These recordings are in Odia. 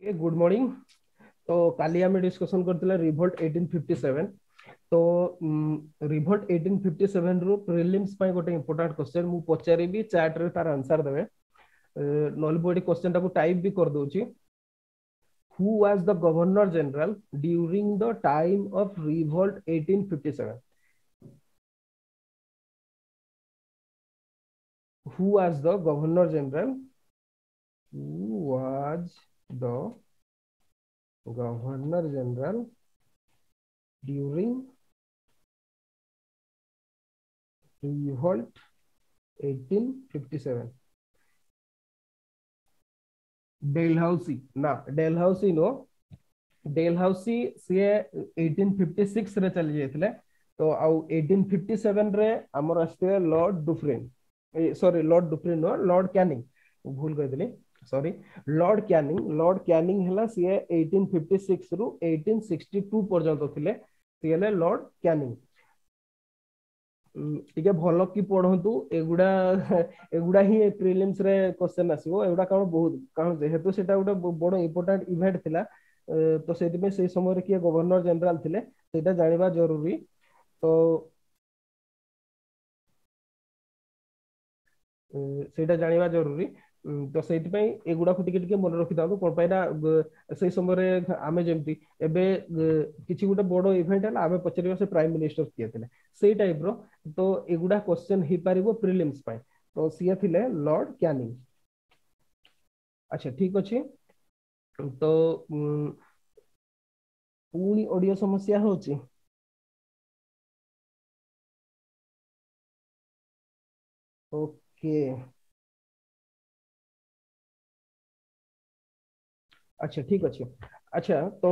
Okay, good morning. ତ କାଲି ଆମେ ଡିସ୍କସନ କରିଥିଲେ ରିଭୋଲ୍ଟ 1857। ତ ରିଭୋଲ୍ଟ 1857 ରୁ ପ୍ରିଲିମ୍ସ ପାଇଁ ଗୋଟେ ଇମ୍ପୋର୍ଟାଣ୍ଟ କ୍ୱେଶ୍ଚନ ମୁଁ ପଚାରିବି, ଚାଟ ରେ ତାର ଆନ୍ସର ଦେବେ। ନହେଲେ ମୁଁ ଏଠି କ୍ୱେଶ୍ଚନ ଟାକୁ ଟାଇପ ବି କରିଦଉଛି। Who was the governor general during the time of revolt 1857? Who was the governor general? Who was the governor general during revolt 1857? Dalhousie ନା, Dalhousie no, Dalhousie ସିଏ 1856 ରେ ଚାଲି ଯାଇଥିଲେ। ତ ଆଉ 1857 ରେ ଆମର ଆସିଥିଲେ ଲର୍ଡ ଡୁଫ୍ରିନ, ସରି ଲର୍ଡ ଡୁଫ୍ରିନ ନୁହଁ, ଲର୍ଡ କ୍ୟାନିଂ, ଭୁଲ କହିଦେଲି, ସରି, ଲର୍ଡ କ୍ୟାନିଂ। ଲର୍ଡ କ୍ୟାନିଂ ହେଲା ସିଏ 1856 ରୁ 1862 ପର୍ଯ୍ୟନ୍ତ ଥିଲେ, ସିଏ ହେଲେ ଲର୍ଡ କ୍ୟାନିଂ। ଟିକେ ଭଲ କି ପଢନ୍ତୁ, ଏଗୁଡା ହିଁ ପ୍ରିଲିମ୍ସ ରେ କ୍ୱେଶ୍ଚନ ଆସିବ ଏଗୁଡା। କାରଣ ବହୁତ, କାରଣ ଯେହେତୁ ସେଟା ଗୋଟେ ବଡ ଇମ୍ପୋର୍ଟାଣ୍ଟ ଇଭେଣ୍ଟ ଥିଲା, ତ ସେଇଥିପାଇଁ ସେଇ ସମୟରେ କିଏ ଗଭର୍ଣ୍ଣର ଜେନେରାଲ ଥିଲେ ସେଇଟା ଜାଣିବା ଜରୁରୀ। ତ ସେଇଟା ଜାଣିବା ଜରୁରୀ, ତ ସେଇଥିପାଇଁ ଏଗୁଡାକୁ ଟିକେ ଟିକେ ମନେ ରଖିଥାନ୍ତୁ। କଣ ପାଇଁ ନା ସେଇ ସମୟରେ ଆମେ ଯେମିତି ଏବେ କିଛି ଗୋଟେ ବଡ ଇଭେଣ୍ଟ ହେଲା ଆମେ ପଚାରିବା ସେ ପ୍ରାଇମ ମିନିଷ୍ଟର କିଏ ଥିଲେ, ସେଇ ଟାଇପ ର। ତ ଏଗୁଡା କ୍ୱେଶ୍ଚନ ହେଇପାରିବ ପ୍ରିଲିମ୍ସ ପାଇଁ। ତ ସିଏ ଥିଲେ ଲର୍ଡ କ୍ୟାନିଂ। ଆଚ୍ଛା ଠିକ ଅଛି। ତ ପୁଣି ଅଡିଓ ସମସ୍ୟା ହଉଛି। ଓକେ, ଆଚ୍ଛା ଠିକ ଅଛି। ଆଚ୍ଛା ତ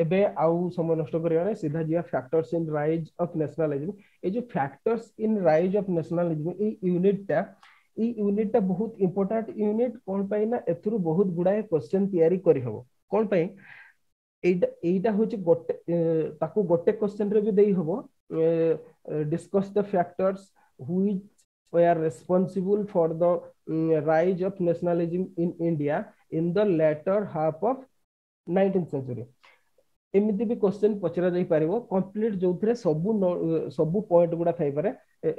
ଏବେ ଆଉ ସମୟ ନଷ୍ଟ କରିବା ନାହିଁ, ସିଧା ଯିବା factors in rise of nationalism. ଏଇ ଯୋଉ factors in rise of nationalism, ଏଇ ୟୁନିଟ ଟା ବହୁତ ଇମ୍ପୋର୍ଟାଣ୍ଟ ୟୁନିଟ। କଣ ପାଇଁ ନା ଏଥିରୁ ବହୁତ ଗୁଡାଏ କ୍ୱେଶ୍ଚନ ତିଆରି କରିହବ। କଣ ପାଇଁ ଏଇଟା ହଉଛି ଗୋଟେ, ତାକୁ ଗୋଟେ କ୍ୱେଶ୍ଚନ ରେ ବି ଦେଇ ହବ। Discuss the factors which were responsible for the rise of nationalism in India in the latter half of 19th century. ଏମିତି ବି କ୍ୱେଶ୍ଚନ ପଚରା ଯାଇ ପାରିବ କମ୍ପ୍ଲିଟ, ଯୋଉଥିରେ ସବୁ ପଏଣ୍ଟ ଗୁଡା ଥାଇପାରେ।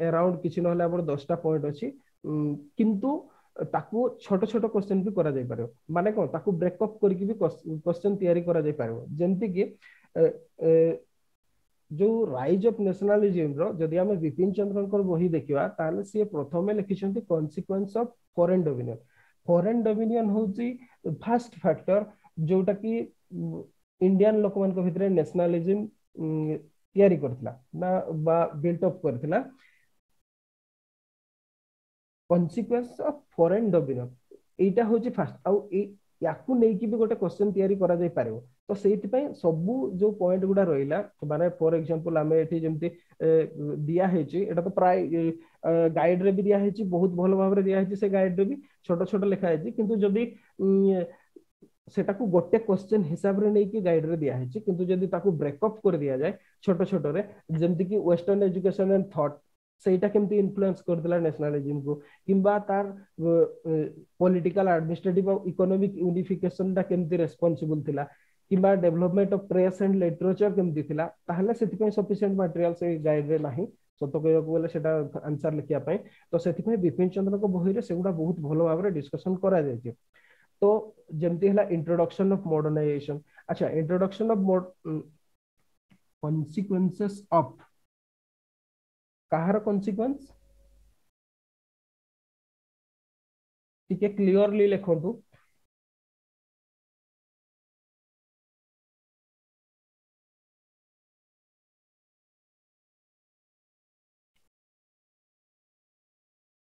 ଆରାଉଣ୍ଡ କିଛି ନହେଲେ ଆମର 10ଟା ପଏଣ୍ଟ ଅଛି, କିନ୍ତୁ ତାକୁ ଛୋଟ ଛୋଟ କ୍ୱେଶ୍ଚନ ବି କରାଯାଇ ପାରିବ। ମାନେ କଣ, ତାକୁ ବ୍ରେକଅପ୍ କରିକି ବି କ୍ୱେଶ୍ଚନ ତିଆରି କରାଯାଇ ପାରିବ। ଯେମିତି କି ଯୋଉ ରାଇଜ ଅଫ ନ୍ୟାସନାଲିଜିମ ର ଯଦି ଆମେ ବିପିନ ଚନ୍ଦ୍ରଙ୍କର ବହି ଦେଖିବା, ତାହେଲେ ସିଏ ପ୍ରଥମେ ଲେଖିଛନ୍ତି consequence of foreign dominion. Foreign dominion ହଉଛି ଫାଷ୍ଟ ଫ୍ୟାକ୍ଟର ଯୋଉଟା କି ଇଣ୍ଡିଆନ ଲୋକମାନଙ୍କ ଭିତରେ ନ୍ୟାସନାଲିଜିମ ତିଆରି କରିଥିଲା ନା ବା ବିଲ୍ଟ ଅପ୍ କରିଥିଲା। କନସିକ୍ୱେନ୍ସ ଅଫ ଫରେନ୍ ଡୋମିନିୟନ ଏଇଟା ହଉଛି ଫାଷ୍ଟ। ଆଉ ୟାକୁ ନେଇକି ବି ଗୋଟେ କ୍ୱେଶ୍ଚନ ତିଆରି କରାଯାଇ ପାରିବ। ତ ସେଇଥିପାଇଁ ସବୁ ଯୋଉ ପଏଣ୍ଟ ଗୁଡା ରହିଲା, ମାନେ ଫର ଏକ୍ସାମ୍ପଲ ଆମେ ଏଠି ଯେମିତି ଦିଆ ହେଇଛି, ଏଇଟା ତ ପ୍ରାୟ ଗାଇଡ ରେ ବି ଦିଆ ହେଇଛି, ବହୁତ ଭଲ ଭାବରେ ଦିଆ ହେଇଛି, ସେ ଗାଇଡ ରେ ବି ଛୋଟ ଛୋଟ ଲେଖା ହେଇଛି। କିନ୍ତୁ ଯଦି ସେଟାକୁ ଗୋଟେ କ୍ୱେଶ୍ଚନ ହିସାବରେ ନେଇକି ଗାଇଡ ରେ ଦିଆ ହେଇଛି, କିନ୍ତୁ ଯଦି ତାକୁ ବ୍ରେକଅପ୍ କରି ଦିଆଯାଏ ଛୋଟ ଛୋଟରେ, ଯେମିତି କି ୱେଷ୍ଟର୍ଣ୍ଣ ଏଜୁକେସନ ଆଣ୍ଡ ଥଟ୍, ସେଇଟା କେମିତି ଇନଫ୍ଲୁଏନ୍ସ କରିଥିଲା ନ୍ୟାସନାଲିଜିମକୁ, କିମ୍ବା ତାର ପଲିଟିକାଲ ଆଡମିନିଷ୍ଟ୍ରେଟିଭ ଆଉ ଇକୋନୋମିକ ୟୁନିଫିକେସନ ଟା କେମିତି ରେସ୍ପନ୍ସିବୁଲ ଥିଲା, କିମ୍ବା development of press and literature କେମିତି ଥିଲା, ତାହେଲେ ସେଥିପାଇଁ ସଫିସିଏଣ୍ଟ ମାଟେରିଆଲ ସେଇ ଗାଇଡରେ ନାହିଁ। ସତ କହିବାକୁ ଗଲେ ସେଟା ଆନ୍ସର ଲେଖିବା ପାଇଁ। ତ ସେଥିପାଇଁ ବିପିନ ଚନ୍ଦ୍ରଙ୍କ ବହିରେ ସେଗୁଡା ବହୁତ ଭଲ ଭାବରେ ଡିସ୍କସନ କରାଯାଇଛି। ତ ଯେମିତି ହେଲା ଇଣ୍ଟ୍ରୋଡକ୍ସନ ଅଫ ମଡର୍ଣ୍ଣାଇଜେସନ। ଆଚ୍ଛା, ଇଣ୍ଟ୍ରୋଡକ୍ସନ ଅଫ କନସିକ୍ୱେନ୍ସେସ୍ ଅଫ କାହାର କନସିକ୍ୱେନ୍ସ ଟିକେ କ୍ଲିୟରଲି ଲେଖନ୍ତୁ।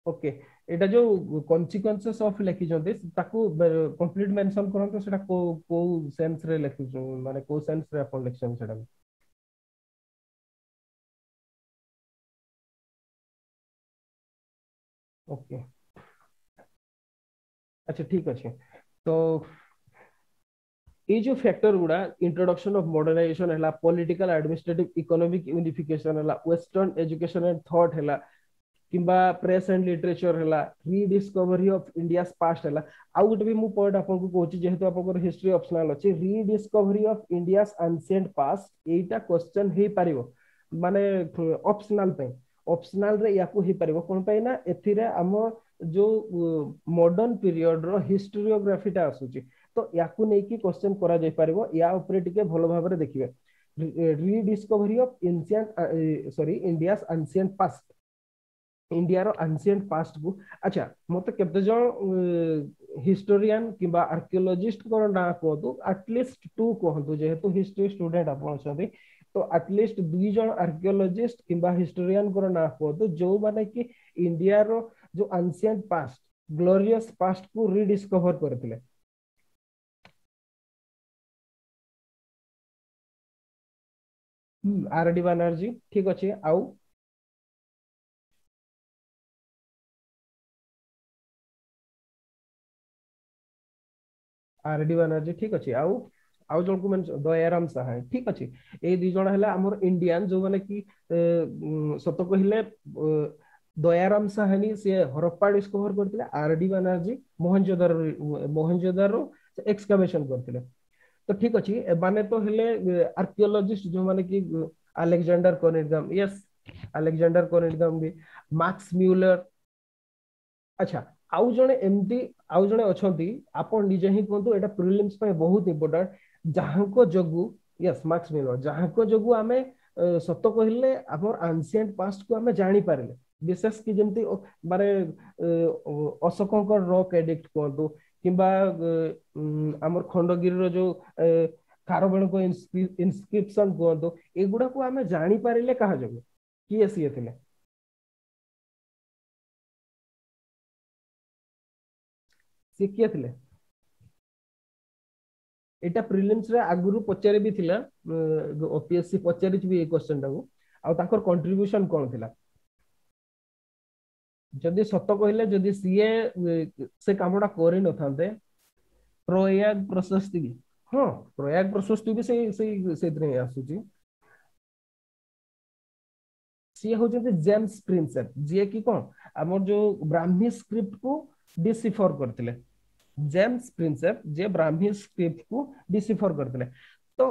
ଓକେ, ଏଇଟା ଯୋଉ କନସିକ୍ୱେନ୍ସେସ୍ ଅଫ ଲେଖିଛନ୍ତି ତାକୁ କମ୍ପ୍ଲିଟ ମେନସନ କରନ୍ତୁ, ସେଟା କୋଉ ସେନ୍ସ ରେ ଲେଖିଛୁ, ମାନେ କୋଉ ସେନ୍ସ ରେ ଆପଣ ଲେଖିଛନ୍ତି ସେଟା। ଓକେ, ଆଚ୍ଛା ଠିକ ଅଛି। ତ ଏଇ ଯୋଉ ଫ୍ୟାକ୍ଟର ଗୁଡା ଇଣ୍ଟ୍ରୋଡକ୍ସନ ଅଫ ମଡର୍ଣ୍ଣାଇଜେସନ ହେଲା, ପଲିଟିକାଲ ଆଡମିନିଷ୍ଟ୍ରେଟିଭ ଇକୋନୋମିକ ୟୁନିଫିକେସନ ହେଲା, ୱେଷ୍ଟର୍ଣ୍ଣ ଏଜୁକେସନ ଆଣ୍ଡ ଥଟ୍ ହେଲା, କିମ୍ବା ପ୍ରେସ୍ ଆଣ୍ଡ ଲିଟରେଚର ହେଲା, ରିଡିସ୍କଭରି ଅଫ ଇଣ୍ଡିଆସ୍ ପାଷ୍ଟ ହେଲା। ଆଉ ଗୋଟେ ବି ମୁଁ ପଏଣ୍ଟ ଆପଣଙ୍କୁ କହୁଛି, ଯେହେତୁ ଆପଣଙ୍କର ହିଷ୍ଟ୍ରି ଅପସନାଲ ଅଛି, ରିଡିସ୍କଭରି ଅଫ ଇଣ୍ଡିଆସ୍ ଆନସିଏଣ୍ଟ ପାଷ୍ଟ, ଏଇଟା କ୍ୱେଶ୍ଚନ ହେଇପାରିବ, ମାନେ ଅପସନାଲ ପାଇଁ, ଅପସନାଲ ରେ ୟାକୁ ହେଇପାରିବ। କଣ ପାଇଁ ନା ଏଥିରେ ଆମ ଯୋଉ ମଡର୍ନ ପିରିୟଡ ର ହିଷ୍ଟ୍ରିଓଗ୍ରାଫିଟା ଆସୁଛି, ତ ୟାକୁ ନେଇକି କ୍ୱେଶ୍ଚନ କରାଯାଇ ପାରିବ। ୟା ଉପରେ ଟିକେ ଭଲ ଭାବରେ ଦେଖିବେ। Rediscovery of ancient sorry India's ancient past, ଇଣ୍ଡିଆର ଆନସିଏଣ୍ଟ ପାଷ୍ଟ କୁ। ଆଚ୍ଛା, ମତେ କେତେ ଜଣ ହିଷ୍ଟୋରିଆନ କିମ୍ବା ଆର୍କିଓଲୋଜିଷ୍ଟଙ୍କର ନାଁ କୁହନ୍ତୁ, ଆଟଲିଷ୍ଟ 2 କୁହନ୍ତୁ, ଯେହେତୁ ହିଷ୍ଟ୍ରି ଷ୍ଟୁଡେଣ୍ଟ ଆପଣ ଅଛନ୍ତି, ତ ଆଟଲିଷ୍ଟ 2 ଜଣ ଆର୍କିଓଲୋଜିଷ୍ଟ କିମ୍ବା ହିଷ୍ଟୋରିଆନଙ୍କର ନାଁ କୁହନ୍ତୁ ଯୋଉମାନେ କି ଇଣ୍ଡିଆର ଯୋଉ ଆନସିଏଣ୍ଟ ପାଷ୍ଟ, ଗ୍ଲୋରିୟସ ପାଷ୍ଟ କୁ ରିଡିସ୍କଭର କରିଥିଲେ। ଆର ଡି ବାନାର୍ଜୀ, ଠିକ ଅଛି। ଆଉ ଆର ଡି ବାନାର୍ଜୀ, ଠିକ ଅଛି। ଆଉ ଆଉ ଜଣକୁ ମେନସନ, ଦୟାରାମ ସାହାଣୀ, ଠିକ ଅଛି। ଏଇ 2 ଜଣ ହେଲା ଆମର ଇଣ୍ଡିଆନ, ଯୋଉମାନେ କି ସତ କହିଲେ ଦୟାରାମ ସାହାଣୀ ସିଏ ହରପ୍ପା ଡିସ୍କଭର କରିଥିଲେ, ଆର ଡି ବାନାର୍ଜୀ ମହେଞ୍ଜୋଦାରୋ ଏକ୍ସକାଭେସନ କରିଥିଲେ। ତ ଠିକ ଅଛି, ଏମାନେ ତ ହେଲେ ଆର୍କିଓଲୋଜିଷ୍ଟ ଯୋଉମାନେ କି ଆଲେକ୍ଜାଣ୍ଡାର କନିଂହାମ, ୟେସ୍ ଆଲେକ୍ଜାଣ୍ଡାର କନିଂହାମ ବି, ମାକ୍ସ ମ୍ୟୁଲର। ଆଚ୍ଛା, ଆଉ ଜଣେ ଏମିତି ଆଉ ଜଣେ ଅଛନ୍ତି, ଆପଣ ନିଜେ ହିଁ କୁହନ୍ତୁ, ଏଇଟା ପ୍ରିଲିମ୍ସ ପାଇଁ ବହୁତ ଇମ୍ପୋର୍ଟାଣ୍ଟ, ଯାହାଙ୍କ ଯୋଗୁ, ୟେସ୍ ମାକ୍ସ ମ୍ୟୁଲର, ଯାହାଙ୍କ ଯୋଗୁ ଆମେ ସତ କହିଲେ ଆମର ଆନସିଏଣ୍ଟ ପାଷ୍ଟ କୁ ଆମେ ଜାଣିପାରିଲେ। ବିଶେଷ କି ଯେମିତି ମାନେ ଅଶୋକଙ୍କ ରକ୍ ଏଡିକ୍ଟ କୁହନ୍ତୁ, କିମ୍ବା ଆମର ଖଣ୍ଡଗିରିର ଯୋଉ ଖାରବେଳଙ୍କ ଇନସ୍କ୍ରିପସନ କୁହନ୍ତୁ, ଏଗୁଡାକୁ ଆମେ ଜାଣିପାରିଲେ କାହା ଯୋଗୁ? କିଏ ସିଏ ଥିଲେ? ସିଏ କିଏ ଥିଲେ? ଏଇଟା ପ୍ରିଲିମ୍ସ ରେ ଆଗରୁ ପଚାରି ବି ଥିଲା, ଓପିଏସସି ପଚାରିଛି ବି ଏଇ କ୍ୱେଶ୍ଚନ ଟାକୁ। ଆଉ ତାଙ୍କର କଣ୍ଟ୍ରିବ୍ୟୁସନ କଣ ଥିଲା? ଯଦି ସତ କହିଲେ, ଯଦି ସିଏ ସେ କାମଟା କରିନଥାନ୍ତେ, ପ୍ରୟାଗ ପ୍ରଶସ୍ତି ବି, ହଁ ପ୍ରୟାଗ ପ୍ରଶସ୍ତି ବି ସେଇ ସେଇ ସେଇଥିରେ ହିଁ ଆସୁଛି। ସିଏ ହଉଛନ୍ତି ଜେମ୍ସ ପ୍ରିନ୍ସେପ, ଯିଏ କି କଣ ଆମର ଯୋଉ ବ୍ରାହ୍ମୀ ସ୍କ୍ରିପ୍ଟ କୁ ଡିସିଫର କରିଥିଲେ। ଜେମ୍ସ ପ୍ରିନ୍ସେପ ଯିଏ ବ୍ରାହ୍ମୀ ସ୍କ୍ରିପ୍ଟ କୁ ଡିସିଫର କରିଥିଲେ। ତ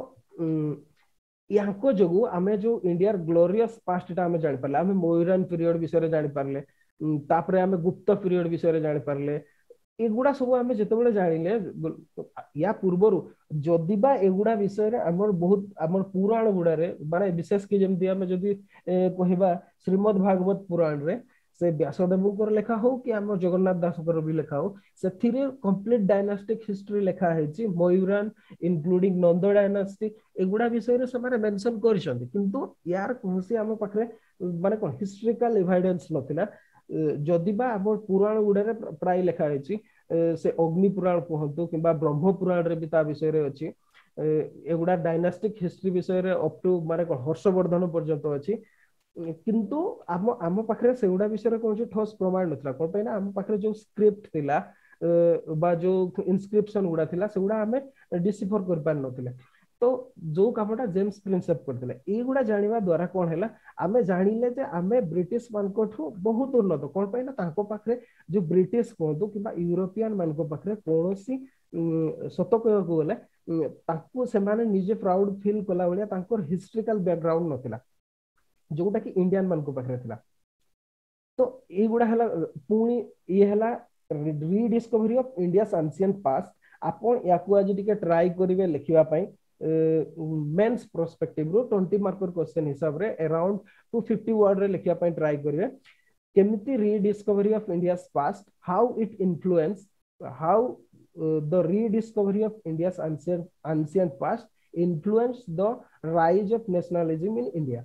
ୟାଙ୍କ ଯୋଗୁ ଆମେ ଯୋଉ ଇଣ୍ଡିଆର ଗ୍ଲୋରିୟସ ପାଷ୍ଟ ଟା ଆମେ ଜାଣିପାରିଲେ, ଆମେ ମୌରାନ ପିରିୟଡ ବିଷୟରେ ଜାଣିପାରିଲେ, ତାପରେ ଆମେ ଗୁପ୍ତ ପିରିୟଡ ବିଷୟରେ ଜାଣିପାରିଲେ। ଏଗୁଡା ସବୁ ଆମେ ଯେତେବେଳେ ଜାଣିଲେ, ୟା ପୂର୍ବରୁ ଯଦି ବା ଏଗୁଡା ବିଷୟରେ ଆମର ବହୁତ ଆମର ପୁରାଣ ଗୁଡାରେ, ମାନେ ବିଶେଷ କି ଯେମିତି ଆମେ ଯଦି କହିବା ଶ୍ରୀମଦ୍ ଭାଗବତ ପୁରାଣରେ, ସେ ବ୍ୟାସଦେବଙ୍କର ଲେଖା ହଉ କି ଆମ ଜଗନ୍ନାଥ ଦାସଙ୍କର ବି ଲେଖା ହଉ, ସେଥିରେ କମ୍ପ୍ଲିଟ ଡାଇନାଷ୍ଟିକ ହିଷ୍ଟ୍ରି ଲେଖା ହେଇଛି। ମୟୁରାନ ଇନକ୍ଲୁଡିଂ ନନ୍ଦ ଡାଇନାଷ୍ଟି, ଏଗୁଡା ବିଷୟରେ ସେମାନେ ମେନସନ କରିଛନ୍ତି, କିନ୍ତୁ ୟାର କୌଣସି ଆମ ପାଖରେ ମାନେ କଣ ହିଷ୍ଟ୍ରିକାଲ ଏଭିଡେନ୍ସ ନଥିଲା। ଯଦି ବା ଆମ ପୁରାଣ ଗୁଡାରେ ପ୍ରାୟ ଲେଖା ହେଇଛି, ସେ ଅଗ୍ନି ପୁରାଣ କୁହନ୍ତୁ କିମ୍ବା ବ୍ରହ୍ମ ପୁରାଣରେ ବି ତା ବିଷୟରେ ଅଛି। ଏଗୁଡା ଡାଇନାଷ୍ଟିକ ହିଷ୍ଟ୍ରି ବିଷୟରେ ଅପ୍ ଟୁ ମାନେ କଣ ହର୍ଷବର୍ଦ୍ଧନ ପର୍ଯ୍ୟନ୍ତ ଅଛି, କିନ୍ତୁ ଆମ ପାଖରେ ସେଗୁଡା ବିଷୟରେ କୌଣସି ଠୋସ୍ ପ୍ରମାଣ ନଥିଲା। କଣ ପାଇଁ ନା ଆମ ପାଖରେ ଯୋଉ ସ୍କ୍ରିପ୍ଟ ଥିଲା ବା ଯୋଉ ଇନସ୍କ୍ରିପସନ ଗୁଡା ଥିଲା, ସେଗୁଡା ଆମେ ଡିସିଫର କରିପାରିନଥିଲେ। ତ ଯୋଉ କାମଟା ଜେମ୍ସ ପ୍ରିନ୍ସେପ କରିଥିଲେ, ଏଇଗୁଡା ଜାଣିବା ଦ୍ଵାରା କଣ ହେଲା, ଆମେ ଜାଣିଲେ ଯେ ଆମେ ବ୍ରିଟିଶ ମାନଙ୍କଠୁ ବହୁତ ଉନ୍ନତ। କଣ ପାଇଁ ନା ତାଙ୍କ ପାଖରେ ଯୋଉ ବ୍ରିଟିଶ କୁହନ୍ତୁ କିମ୍ବା ୟୁରୋପିଆନ ମାନଙ୍କ ପାଖରେ କୌଣସି ସତ କହିବାକୁ ଗଲେ ତାଙ୍କୁ ସେମାନେ ନିଜେ ପ୍ରାଉଡ ଫିଲ୍ କଲା ଭଳିଆ ତାଙ୍କର ହିଷ୍ଟ୍ରିକାଲ ବ୍ୟାକଗ୍ରାଉଣ୍ଡ ନଥିଲା, ଯୋଉଟା କି ଇଣ୍ଡିଆନ ମାନଙ୍କ ପାଖରେ ଥିଲା। ତ ଏଇଗୁଡା ହେଲା, ପୁଣି ଇଏ ହେଲା ରିଡିସ୍କଭରି ଅଫ ଇଣ୍ଡିଆସ୍ ଆନସିଏଣ୍ଟ ପାଷ୍ଟ। ଆପଣ ୟାକୁ ଆଜି ଟିକେ ଟ୍ରାଏ କରିବେ ଲେଖିବା ପାଇଁ। ମେନ୍ସ ପର୍ସପେକ୍ଟିଭ ରୁ 20 ମାର୍କର କ୍ୱେଶ୍ଚନ ହିସାବରେ ଆରାଉଣ୍ଡ 250 ୱାର୍ଡ ରେ ଲେଖିବା ପାଇଁ ଟ୍ରାଏ କରିବେ। କେମିତି rediscovery of India's past, how it influence, how the rediscovery of India's ancient past influence the rise of nationalism in India.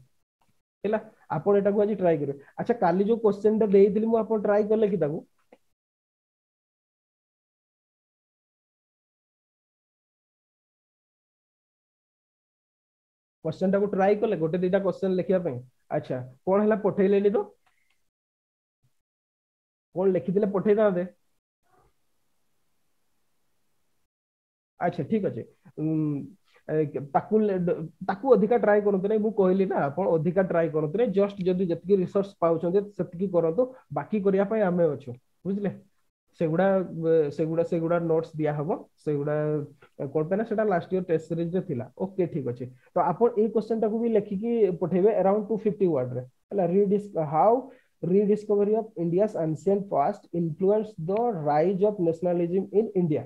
ହେଲା, ଆପଣ ଏଟାକୁ ଆଜି ଟ୍ରାଏ କରିବେ। ଆଚ୍ଛା, କାଲି ଯୋଉ କ୍ୱେଶ୍ଚନ ଟା ଦେଇଥିଲି ମୁଁ, ଆପଣ ଟ୍ରାଏ କଲେ କି ତାକୁ? କ୍ୱେଶ୍ଚନ ଟାକୁ ଟ୍ରାଏ କଲେ ଗୋଟେ ଦିଟା କ୍ୱେଶ୍ଚନ ଲେଖିବା ପାଇଁ? ଆଚ୍ଛା, କଣ ହେଲା ପଠେଇଲେନି ତ? କଣ ଲେଖିଥିଲେ ପଠେଇଥାନ୍ତେ। ଆଚ୍ଛା ଠିକ ଅଛି। ତାକୁ ତାକୁ ଅଧିକା ଟ୍ରାଏ କରନ୍ତୁ ନାହିଁ। ମୁଁ କହିଲି ନା, ଆପଣ ଅଧିକା ଟ୍ରାଏ କରନ୍ତୁ ନାହିଁ। ଜଷ୍ଟ ଯଦି ଯେତିକି ରିସୋର୍ସ ପାଉଛନ୍ତି ସେତିକି କରନ୍ତୁ, ବାକି କରିବା ପାଇଁ ଆମେ ଅଛୁ, ବୁଝିଲେ? ସେଗୁଡା ସେଗୁଡା ସେଗୁଡା ନୋଟ୍ସ ଦିଆହବ। ସେଗୁଡା କଣ ପାଇଁ ନା ସେଟା ଲାଷ୍ଟ ଇୟର ଟେଷ୍ଟ ସିରିଜରେ ଥିଲା। ଓକେ, ଠିକ ଅଛି। ତ ଆପଣ ଏଇ କ୍ୱେଶ୍ଚନ ଟାକୁ ବି ଲେଖିକି ପଠେଇବେ ଆରାଉଣ୍ଡ 250 ୱାର୍ଡରେ, ହେଲା? How rediscovery of India's ancient past influenced the rise of nationalism in India।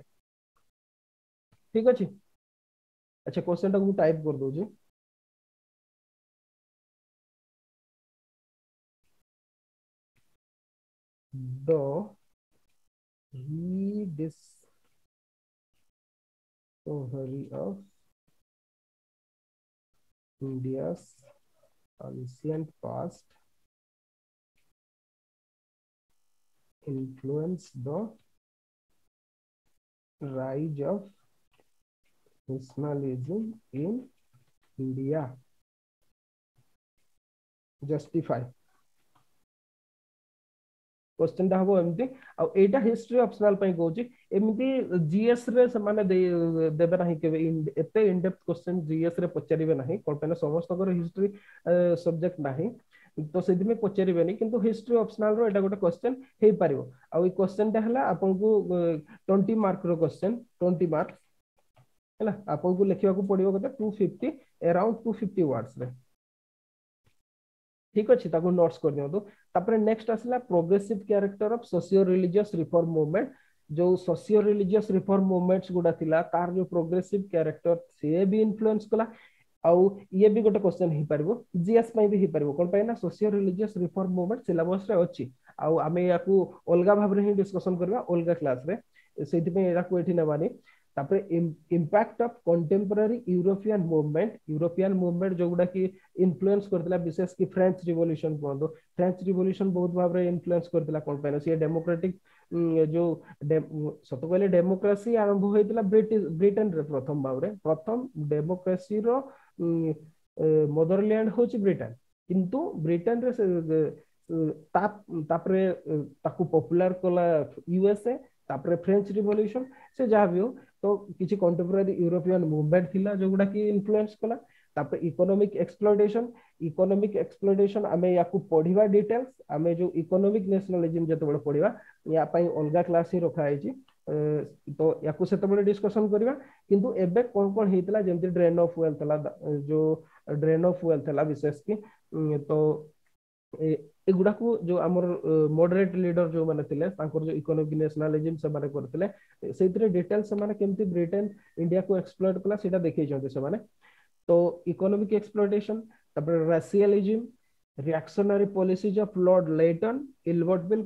ଠିକ ଅଛି। ଆଚ୍ଛା, କ୍ୱେଶ୍ଚନ ଟାକୁ ମୁଁ ଟାଇପ କରିଦଉଛି। The rediscovery of India's ancient past influence the rise of nationalism in India, justify। Question ଟା ହବ ଏମିତି। ଆଉ ଏଇଟା ହିଷ୍ଟ୍ରି ଅପସନାଲ ପାଇଁ କହୁଛି। ଏମିତି ଜିଏସ୍ ରେ ସେମାନେ ଦେବେ ନାହିଁ କେବେ, ଏତେ ଇନଡେପ୍ଥ କ୍ୱେଶ୍ଚନ ଜିଏସ୍ ରେ ପଚାରିବେ ନାହିଁ। କଣ ପାଇଁ ନା ସମସ୍ତଙ୍କର ହିଷ୍ଟ୍ରି ସବଜେକ୍ଟ ନାହିଁ, ତ ସେଥିପାଇଁ ପଚାରିବେନି। କିନ୍ତୁ ହିଷ୍ଟ୍ରି ଅପସନାଲ ର ଏଇଟା ଗୋଟେ କ୍ୱେଶ୍ଚନ ହେଇପାରିବ। ଆଉ ଏଇ କ୍ୱେଶ୍ଚନ ଟା ହେଲା ଆପଣଙ୍କୁ 20 ମାର୍କ ର କ୍ୱେଶ୍ଚନ, 20 ମାର୍କ ହେଲା। ଆପଣଙ୍କୁ ଲେଖିବାକୁ ପଡିବ କେତେ? 250, ଆରାଉଣ୍ଡ 250 ୱାର୍ଡସ ରେ। ଠିକ ଅଛି, ତାକୁ ନୋଟ୍ସ କରିଦିଅନ୍ତୁ। ତାପରେ ନେକ୍ସଟ ଆସିଲା progressive character of socio religious reform movement। ଯୋଉ ସୋସିଓ ରିଲିଜିୟସ ରିଫର୍ମ ମୁଭମେଣ୍ଟ ଗୁଡା ଥିଲା, ତାର ଯୋଉ ପ୍ରୋଗ୍ରେସିଭ କ୍ୟାରେକ୍ଟର, ସିଏ ବି ଇନଫ୍ଲୁଏନ୍ସ କଲା। ଆଉ ଇଏ ବି ଗୋଟେ କ୍ୱେଶ୍ଚନ ହେଇପାରିବ, ଜିଏସ୍ ପାଇଁ ବି ହେଇପାରିବ। କଣ ପାଇଁ ନା socio religious reform movement syllabus ରେ ଅଛି, ଆଉ ଆମେ ୟାକୁ ଅଲଗା ଭାବରେ ହିଁ ଡିସ୍କସନ କରିବା ଅଲଗା କ୍ଲାସରେ, ସେଇଥିପାଇଁ ଏଟାକୁ ଏଠି ନେବାନି। ତାପରେ impact of contemporary European movement। European movement ଯୋଉଗୁଡା କି ଇନଫ୍ଲୁଏନ୍ସ କରିଥିଲା, ବିଶେଷ କି ଫ୍ରେଞ୍ଚ ରିଭଲ୍ୟୁସନ କୁହନ୍ତୁ। ଫ୍ରେଞ୍ଚ ରିଭଲ୍ୟୁସନ ବହୁତ ଭାବରେ ଇନଫ୍ଲୁଏନ୍ସ କରିଥିଲା। କଣ ପାଇଁ ନା ସିଏ ଡେମୋକ୍ରାଟିକ ଯୋଉ, ସତ କହିଲେ ଡେମୋକ୍ରାସି ଆରମ୍ଭ ହେଇଥିଲା ବ୍ରିଟେନରେ ପ୍ରଥମ ଭାବରେ। ପ୍ରଥମ ଡେମୋକ୍ରାସିର ମଦରଲ୍ୟାଣ୍ଡ ହଉଛି ବ୍ରିଟେନ। କିନ୍ତୁ ବ୍ରିଟେନରେ ତାପରେ ତାକୁ ପପୁଲାର କଲା ୟୁଏସଏ, ତାପରେ ଫ୍ରେଞ୍ଚ ରିଭଲ୍ୟୁସନ। ସେ ଯାହା ବି ହଉ, ତ କିଛି କଣ୍ଟେମ୍ପୋରାରୀ ୟୁରୋପିଆନ ମୁଭମେଣ୍ଟ ଥିଲା ଯୋଉଗୁଡା କି ଇନଫ୍ଲୁଏନ୍ସ କଲା। ତାପରେ ଇକୋନୋମିକ ଏକ୍ସପ୍ଲୋଇଟେସନ। ଇକୋନୋମିକ ଏକ୍ସପ୍ଲୋଇଟେସନ ଆମେ ୟାକୁ ପଢିବା ଡିଟେଲ୍ସ, ଆମେ ଯୋଉ ଇକୋନୋମିକ ନ୍ୟାସନାଲିଜିମ ଯେତେବେଳେ ପଢିବା, ୟା ପାଇଁ ଅଲଗା କ୍ଲାସ ହିଁ ରଖା ହେଇଛି, ତ ୟାକୁ ସେତେବେଳେ ଡିସ୍କସନ କରିବା। କିନ୍ତୁ ଏବେ କଣ କଣ ହେଇଥିଲା, ଯେମିତି ଡ୍ରେନ୍ ଅଫ ୱେଲ୍ଥ ହେଲା, ଯୋଉ ଡ୍ରେନ୍ ଅଫ ୱେଲ୍ଥ ହେଲା ବିଶେଷ କି, ତ ଏଗୁଡାକୁ ଯୋଉ ଆମର ମଡରେଟ ଲିଡର ଯୋଉମାନେ ଥିଲେ, ତାଙ୍କର ଯୋଉ ଇକୋନୋମିକ ନ୍ୟାସନାଲିଜିମ ସେମାନେ କରିଥିଲେ, ସେଇଥିରେ ଡିଟେଲ ସେମାନେ କେମିତି ବ୍ରିଟେନ ଇଣ୍ଡିଆକୁ ଏକ୍ସପ୍ଲୋଇଟ କଲା, ସେଇଟା ଦେଖେଇଛନ୍ତି ସେମାନେ। ତ ଇକୋନୋମିକ ଏକ୍ସପ୍ଲୋଇଟେସନ, ତାପରେ racialism, reactionary policies of Lord Lytton, Ilbert Bill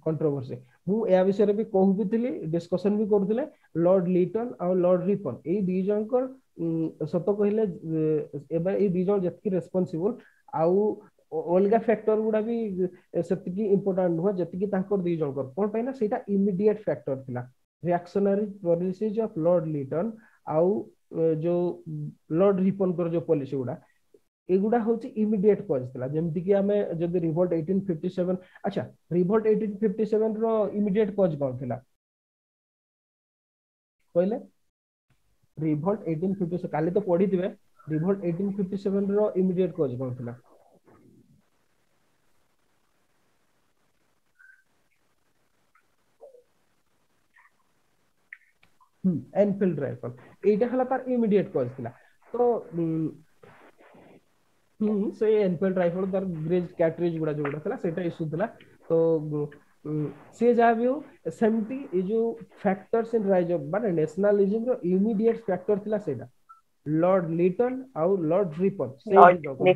controversy। ମୁଁ ଏହା ବିଷୟରେ ବି କହୁଥିଲି, ଡିସ୍କସନ ବି କରୁଥିଲେ। ଲର୍ଡ ଲିଟନ ଆଉ ଲର୍ଡ ରିପନ, ଏଇ ଦି ଜଣଙ୍କର ସତ କହିଲେ ଏବେ ଏଇ ଦି ଜଣ ଯେତିକି ରେସ୍ପନ୍ସିବଲ, ଆଉ ଅଲଗା ଫ୍ୟାକ୍ଟର ଗୁଡା ବି ସେତିକି ଇମ୍ପୋର୍ଟାଣ୍ଟ ନୁହଁ ଯେତିକି ତାଙ୍କର ଦି ଜଣଙ୍କର। କଣ ପାଇଁ ନା ସେଇଟା ଇମିଡିଏଟ ଫ୍ୟାକ୍ଟର ଥିଲା। Reactionary policies of Lord Lytton ଆଉ ଯୋଉ ଲର୍ଡ ରିପନଙ୍କର ଯୋଉ ପଲିସି ଗୁଡା, ଏଗୁଡା ହଉଛି ଇମିଡିଏଟ କଜ ଥିଲା। ଯେମିତି କି ଆମେ ଯଦି ରିଭୋଲ୍ଟ 1857, ଆଚ୍ଛା, ରିଭୋଲ୍ଟ 1857 ର ଇମିଡିଏଟ କଜ କଣ ଥିଲା କହିଲେ? ରିଭୋଲ୍ଟ 1857 କାଲି ତ ପଢିଥିବେ। ରିଭୋଲ୍ଟ 1857 ର ଇମିଡିଏଟ କଜ କଣ ଥିଲା? ଏନଫିଲ୍ଡ ରାଇଫଲ, ଏଇଟା ହେଲା ତାର ଇମିଡିଏଟ କଜ ଥିଲା। ତ ସେ ଏନଫିଲ୍ଡ ରାଇଫଲ, ତାର ଗ୍ରେଜ କ୍ୟାଟ୍ରିଜ ଗୁଡା ଯୋଉଗୁଡା ଥିଲା, ସେଇଟା ଇସ୍ୟୁ ଥିଲା। ତ ସିଏ ଯାହା ବି ହଉ, ସେମିତି ଏଇ ଯୋଉ ଫ୍ୟାକ୍ଟର୍ସ ଇନ ରାଇଜ ଅଫ ମାନେ ନ୍ୟାସନାଲିଜିମ ର ଇମିଡିଏଟ ଫ୍ୟାକ୍ଟର ଥିଲା ସେଇଟା ଲର୍ଡ ଲିଟନ ଆଉ ଲର୍ଡ ରିପନ। ସେଇ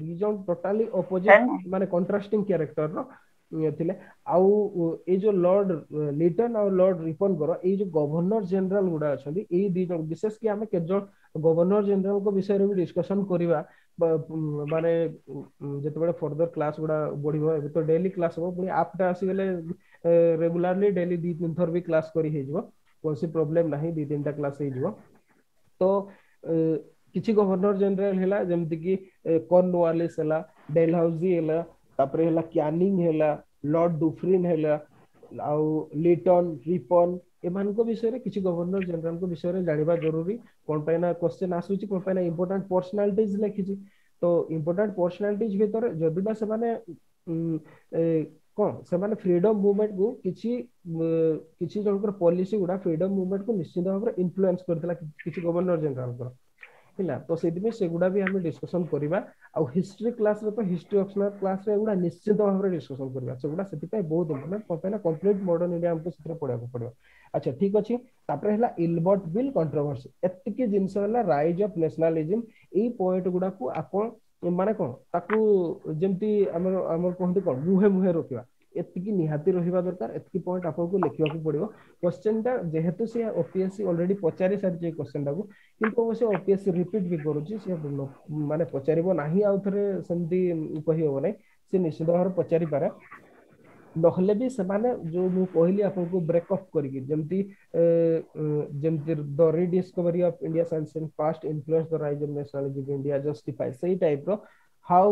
ଦି ଜଣ ଟୋଟାଲି ଅପୋଜିଟ, ମାନେ କଣ୍ଟ୍ରାଷ୍ଟିଂ କ୍ୟାରେକ୍ଟର ର ଥିଲେ। ଆଉ ଏଇ ଯୋଉ ଲର୍ଡ ଲିଟନ ଆଉ ଲର୍ଡ ରିପନଙ୍କର ଏଇ ଯୋଉ ଗଭର୍ଣ୍ଣର ଜେନେରାଲ ଗୁଡା ଅଛନ୍ତି, ଏଇ ଦି ଜଣ ବିଶେଷ କି, ଆମେ କେତେ ଜଣ ଗଭର୍ଣ୍ଣର ଜେନେରାଲଙ୍କ ବିଷୟରେ ବି ଡିସ୍କସନ କରିବା, ମାନେ ଯେତେବେଳେ ଫର୍ଦର କ୍ଲାସ ଗୁଡା ବଢିବ। ଏବେ ତ ଡେଲି କ୍ଲାସ ହବ, ପୁଣି ଆପ୍ ଟା ଆସିଗଲେ ରେଗୁଲାରଲି ଡେଲି ଦି ତିନି ଥର ବି କ୍ଲାସ କରି ହେଇଯିବ, କୌଣସି ପ୍ରୋବ୍ଲେମ ନାହିଁ, ଦି ତିନିଟା କ୍ଲାସ ହେଇଯିବ। ତ କିଛି ଗଭର୍ଣ୍ଣର ଜେନେରାଲ ହେଲା, ଯେମିତି କି କର୍ନୱାଲିସ ହେଲା, ଡେଲହାଉଜି ହେଲା, ତାପରେ ହେଲା କ୍ୟାନିଂ ହେଲା, ଲର୍ଡ ଡୁଫ୍ରିନ ହେଲା, ଆଉ ଲିଟନ, ରିପନ, ଏମାନଙ୍କ ବିଷୟରେ କିଛି ଗଭର୍ଣ୍ଣର ଜେନେରାଲଙ୍କ ବିଷୟରେ ଜାଣିବା ଜରୁରୀ। କଣ ପାଇଁ ନା କ୍ୱେଶ୍ଚନ ଆସୁଛି, କଣ ପାଇଁ ନା ଇମ୍ପୋର୍ଟାଣ୍ଟ ପର୍ସନାଲିଟିଜ ଲେଖିଛି। ତ ଇମ୍ପୋର୍ଟାଣ୍ଟ ପର୍ସନାଲିଟିଜ ଭିତରେ ଯଦି ବା ସେମାନେ କଣ ସେମାନେ ଫ୍ରିଡମ ମୁଭମେଣ୍ଟ କୁ କିଛି କିଛି ଜଣଙ୍କର ପଲିସି ଗୁଡା ଫ୍ରିଡମ ମୁଭମେଣ୍ଟ କୁ ନିଶ୍ଚିତ ଭାବରେ ଇନଫ୍ଲୁଏନ୍ସ କରିଥିଲା କିଛି ଗଭର୍ଣ୍ଣର ଜେନେରାଲଙ୍କର, ହେଲା। ତ ସେଇଥିପାଇଁ ସେଗୁଡା ବି ଆମେ ଡିସ୍କସନ କରିବା। ଆଉ ହିଷ୍ଟ୍ରି କ୍ଲାସରେ ତ ହିଷ୍ଟ୍ରି ଅପସନାଲ କ୍ଲାସରେ ଏଗୁଡା ନିଶ୍ଚିତ ଭାବରେ ଡିସ୍କସନ କରିବା, ସେଗୁଡା ସେଥିପାଇଁ ବହୁତ ଇମ୍ପୋର୍ଟାଣ୍ଟ। କଣ ପାଇଁ ନା କମ୍ପ୍ଲିଟ ମଡର୍ନ ଇଣ୍ଡିଆ ଆମକୁ ସେଥିରେ ପଢିବାକୁ ପଡିବ। ଆଚ୍ଛା ଠିକ ଅଛି। ତାପରେ ହେଲା ଇଲବର୍ଟ ବିଲ୍ କଣ୍ଟ୍ରୋଭର୍ସି। ଏତିକି ଜିନିଷ ହେଲା ରାଇଜ ଅଫ ନ୍ୟାସନାଲିଜିମ। ଏଇ ପଏଣ୍ଟ ଗୁଡାକୁ ଆପଣ ମାନେ କଣ ତାକୁ ଯେମିତି ଆମର ଆମର କୁହନ୍ତି କଣ ମୁହେଁ ମୁହେଁ ରଖିବା, ଏତିକି ନିହାତି ରହିବା ଦରକାର। ଏତିକି ପଏଣ୍ଟ ଆପଣଙ୍କୁ ଲେଖିବାକୁ ପଡିବ। କ୍ୱେଶ୍ଚନ ଟା ଯେହେତୁ ସେ ଓପିଏସସି ଅଲରେଡି ପଚାରି ସାରିଛି ଏଇ କ୍ୱେଶ୍ଚନ ଟାକୁ, କିନ୍ତୁ ଅବଶ୍ୟ ଓପିଏସସି ରିପିଟ ବି କରୁଛି, ସେ ମାନେ ପଚାରିବ ନାହିଁ ଆଉ ଥରେ ସେମିତି କହିହବ ନାହିଁ, ସେ ନିଶ୍ଚିତ ଭାବରେ ପଚାରିପାରେ। ନହେଲେ ବି ସେମାନେ ଯୋଉ ମୁଁ କହିଲି ଆପଣଙ୍କୁ ବ୍ରେକଅପ୍ କରିକି ଯେମିତି ଯେମିତି the rediscovery of India's ancient past influence the rise of nationalism India justify, ସେଇ ଟାଇପ ର how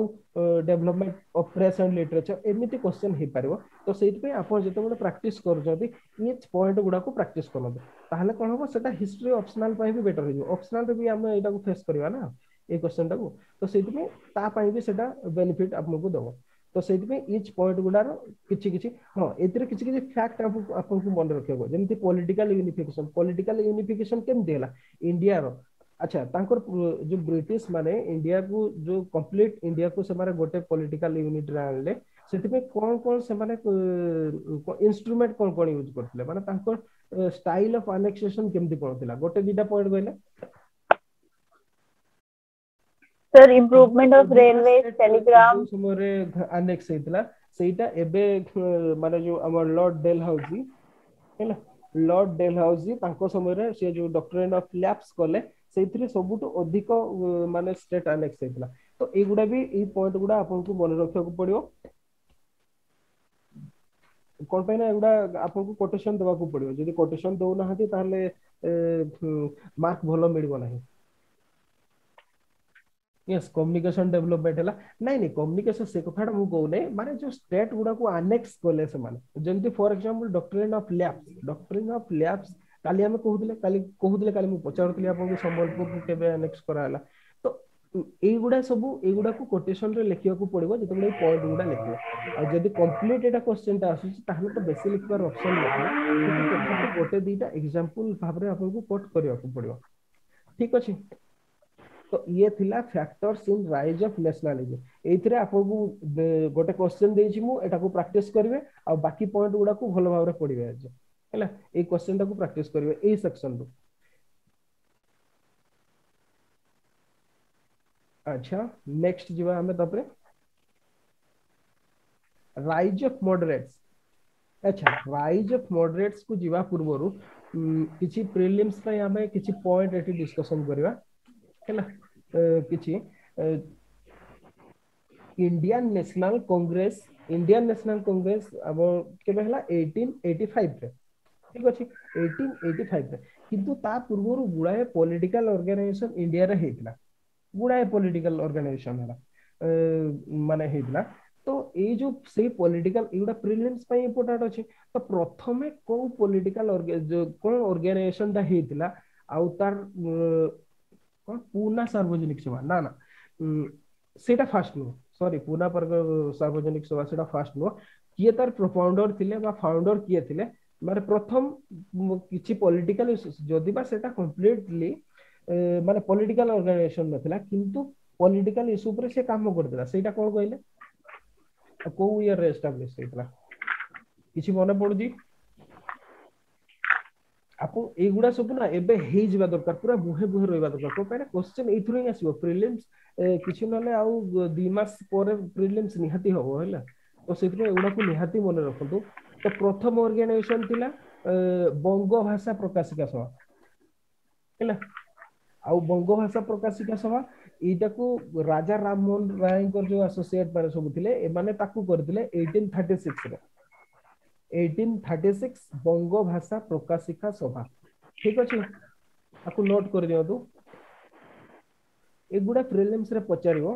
development of press and literature, ଏମିତି କ୍ୱେଶ୍ଚନ ହେଇପାରିବ। ତ ସେଇଥିପାଇଁ ଆପଣ ଯେତେବେଳେ ପ୍ରାକ୍ଟିସ କରୁଛନ୍ତି ଇଚ୍ ପଏଣ୍ଟ ଗୁଡାକୁ ପ୍ରାକ୍ଟିସ କରନ୍ତୁ, ତାହେଲେ କଣ ହବ ସେଟା ହିଷ୍ଟ୍ରି ଅପସନାଲ ପାଇଁ ବି ବେଟର ହେଇଯିବ। ଅପସନାଲରେ ବି ଆମେ ଏଇଟାକୁ ଫେସ୍ କରିବା ନା ଏଇ କ୍ୱେଶ୍ଚନ ଟାକୁ, ତ ସେଇଥିପାଇଁ ତା ପାଇଁ ବି ସେଟା ବେନିଫିଟ ଆପଣଙ୍କୁ ଦବ। ତ ସେଇଥିପାଇଁ ଇଚ୍ ପଏଣ୍ଟ ଗୁଡାର କିଛି କିଛି, ହଁ ଏଥିରେ କିଛି କିଛି ଫ୍ୟାକ୍ଟ ଆପଣଙ୍କୁ ମନେ ରଖିବାକୁ, ଯେମିତି ପଲିଟିକାଲ ୟୁନିଫିକେସନ। ପଲିଟିକାଲ ୟୁନିଫିକେସନ କେମିତି ହେଲା ଇଣ୍ଡିଆର? ଆଚ୍ଛା ତାଙ୍କର ଯୋଉ ବ୍ରିଟିଶ ମାନେ ଇଣ୍ଡିଆକୁ ଯୋଉ କମ୍ପ୍ଲିଟ ଇଣ୍ଡିଆକୁ ସେମାନେ ଗୋଟେ ପଲିଟିକାଲ ୟୁନିଟରେ ଆଣିଲେ, ସେଥିପାଇଁ କଣ କଣ ସେମାନେ ଇନଷ୍ଟ୍ରୁମେଣ୍ଟ କଣ କଣ ୟୁଜ କରିଥିଲେ, ମାନେ ତାଙ୍କର ଷ୍ଟାଇଲ ଅଫ ଆନେକ୍ସେସନ କେମିତି କଣ ଥିଲା, ଗୋଟେ ଦିଟା ପଏଣ୍ଟ କହିଲେ। Sir, improvement of railways, telegram. ଯୋଉ ସମୟରେ ଆନେକ୍ସ ହେଇଥିଲା ସେଇଟା ଏବେ ମାନେ ଯୋଉ ଆମର ଲର୍ଡ ଡେଲହାଉସି ହେଲା, ଲର୍ଡ ଡେଲହାଉସି ତାଙ୍କ ସମୟରେ ସେ ଯୋଉ ଡକ୍ଟରିନ ଅଫ ଲ୍ୟାପ୍ସ କଲେ, ସେଇଥିରେ ସବୁଠୁ ଅଧିକ ମାନେ ଷ୍ଟେଟ ଆନେକ୍ସ ହେଇଥିଲା। ତ ଏଇଗୁଡା ବି ଏଇ ପଏଣ୍ଟ ଗୁଡା ଆପଣଙ୍କୁ ମନେ ରଖିବାକୁ ପଡିବ। କଣ ପାଇଁ ନା ଏଗୁଡା ଆପଣଙ୍କୁ କୋଟେସନ ଦେବାକୁ ପଡିବ, ଯଦି କୋଟେସନ ଦଉନାହାନ୍ତି ତାହେଲେ ମାର୍କ ଭଲ ମିଳିବ ନାହିଁ। ୟେସ୍, କମ୍ୟୁନିକେସନ ଡେଭଲପମେଣ୍ଟ ହେଲା, ନାଇଁ ନାଇଁ କମ୍ୟୁନିକେସନ ସେ କଥାଟା ମୁଁ କହୁନାହିଁ, ମାନେ ଯୋଉ ଷ୍ଟେଟ ଗୁଡାକୁ ଆନେକ୍ସ କଲେ ସେମାନେ, ଯେମିତି for example doctrine of lapse. Doctrine of lapse କାଲି ଆମେ କହୁଥିଲେ, କାଲି କହୁଥିଲେ, କାଲି ମୁଁ ପଚାରୁଥିଲି ଆପଣଙ୍କୁ ସମ୍ବଲପୁରକୁ କେବେ ଆନେକ୍ସ କରାହେଲା। ତ ଏଇଗୁଡା ସବୁ ଏଇଗୁଡାକୁ କୋଟେସନ ରେ ଲେଖିବାକୁ ପଡିବ ଯେତେବେଳେ ଏଇ ପଏଣ୍ଟ ଗୁଡା ଲେଖିବ। ଆଉ ଯଦି କମ୍ପ୍ଲିଟ ଏଇଟା କ୍ୱେଶ୍ଚନ ଟା ଆସୁଛି ତାହେଲେ ତ ବେଶୀ ଲେଖିବାର ଅପସନ ନଥିବ, କିନ୍ତୁ ତଥାପି ଗୋଟେ ଦିଟା ଏକ୍ସାମ୍ପଲ ଭାବରେ ଆପଣଙ୍କୁ କୋଟ କରିବାକୁ ପଡିବ। ଠିକ ଅଛି। ତ ଇଏ ଥିଲା factors in rise of nationalism. ଏଇଥିରେ ଆପଣଙ୍କୁ ଗୋଟେ କ୍ୱେଶ୍ଚନ ଦେଇଛି ମୁଁ, ଏଟାକୁ ପ୍ରାକ୍ଟିସ କରିବେ ଆଉ ବାକି ପଏଣ୍ଟ ଗୁଡାକୁ ଭଲ ଭାବରେ ପଢିବେ ଆଜି, ହେଲା। ଏଇ କ୍ୱେଶ୍ଚନ ଟାକୁ ପ୍ରାକ୍ଟିସ କରିବେ ଏଇ ସେକ୍ସନ ରୁ। ଆଚ୍ଛା ନେକ୍ସଟ ଯିବା ଆମେ ତାପରେ ରାଇଜ ଅଫ ମଡରେଟ୍ସ। ଆଚ୍ଛା ରାଇଜ ଅଫ ମଡରେଟ୍ସ କୁ ଯିବା ପୂର୍ବରୁ କିଛି ପ୍ରିଲିମ୍ସ ପାଇଁ ଆମେ କିଛି ପଏଣ୍ଟ ଏଠି ଡିସ୍କସନ କରିବା, ହେଲା। କିଛି Indian national Congress, Indian national Congress ଆମ କେବେ ହେଲା 1885 ରେ, ଠିକ ଅଛି, 1885 ରେ। କିନ୍ତୁ ତା ପୂର୍ବରୁ ଗୁଡ଼ାଏ ପଲିଟିକାଲ ଅର୍ଗାନାଇଜେସନ ଇଣ୍ଡିଆରେ ହେଇଥିଲା, ଗୁଡ଼ାଏ ପଲିଟିକାଲ ଅର୍ଗାନାଇଜେସନ ହେଲା, ମାନେ ହେଇଥିଲା। ତ ଏଇ ଯୋଉ ସେଇ ପଲିଟିକାଲ ଏଇଗୁଡ଼ା ପ୍ରିଲିମ୍ସ ପାଇଁ ଇମ୍ପୋର୍ଟାଣ୍ଟ ଅଛି। ତ ପ୍ରଥମେ କୋଉ ପଲିଟିକାଲ କଣ ଅର୍ଗାନାଇଜେସନ ଟା ହେଇଥିଲା ଆଉ ତାର କଣ ପୁନା ସାର୍ବଜନିକ ସଭା, ନା ନା ସେଇଟା ଫାଷ୍ଟ ନୁହଁ, ସରି ପୁନା ସାର୍ବଜନିକ ସଭା ସେଇଟା ଫାଷ୍ଟ ନୁହଁ। କିଏ ତାର ପ୍ରୋଫାଉଣ୍ଡର ଥିଲେ ବା ଫାଉଣ୍ଡର କିଏ ଥିଲେ, ମାନେ ପ୍ରଥମ କିଛି ପଲିଟିକାଲ, ଯଦି ବା ସେଇଟା କମ୍ପ୍ଲିଟଲି ମାନେ ପଲିଟିକାଲ ଅର୍ଗାନାଇଜେସନ ନଥିଲା, କିନ୍ତୁ ପଲିଟିକାଲ ଇସ୍ୟୁ ଉପରେ ସେ କାମ କରିଥିଲା, ସେଇଟା କଣ କହିଲେ, କୋଉ ଇୟର ରେ ଏଷ୍ଟାବ୍ଲିଶ ହେଇଥିଲା, କିଛି ମନେ ପଡୁଛି ଆପଣ? ଏଇଗୁଡା ସବୁ ନା ଏବେ ହେଇଯିବା ଦରକାର, ପୁରା ମୁହେଁ ମୁହେଁ ରହିବା ଦରକାର। କଣ ପାଇଁ ନା କ୍ୱେଶ୍ଚନ ଏଇଥିରୁ ହିଁ ଆସିବ। ପ୍ରିଲିମ୍ସ କିଛି ନହେଲେ ଆଉ 2 ମାସ ପରେ ପ୍ରିଲିମ୍ସ ନିହାତି ହବ, ହେଲା। ତ ସେଥିପାଇଁ ଏଗୁଡାକୁ ନିହାତି ମନେ ରଖନ୍ତୁ। ତ ପ୍ରଥମ ଅର୍ଗାନାଇଜେସନ ଥିଲା ବଙ୍ଗ ଭାଷା ପ୍ରକାଶିକା ସଭା, ହେଲା। ଆଉ ବଙ୍ଗ ଭାଷା ପ୍ରକାଶିକା ସଭା ଏଇଟାକୁ ରାଜା ରାମମୋହନ ରାୟଙ୍କର ଯୋଉ ଆସୋସିଏଟ ମାନେ ସବୁ ଥିଲେ, ଏମାନେ ତାକୁ କରିଥିଲେ 1836 ରେ। 1836 ବଙ୍ଗ ଭାଷା ପ୍ରକାଶିକା ସଭା, ଠିକ ଅଛି, ତାକୁ ନୋଟ କରିଦିଅନ୍ତୁ। ଏଗୁଡା ପ୍ରିଲିମ୍ସ ରେ ପଚାରିବ।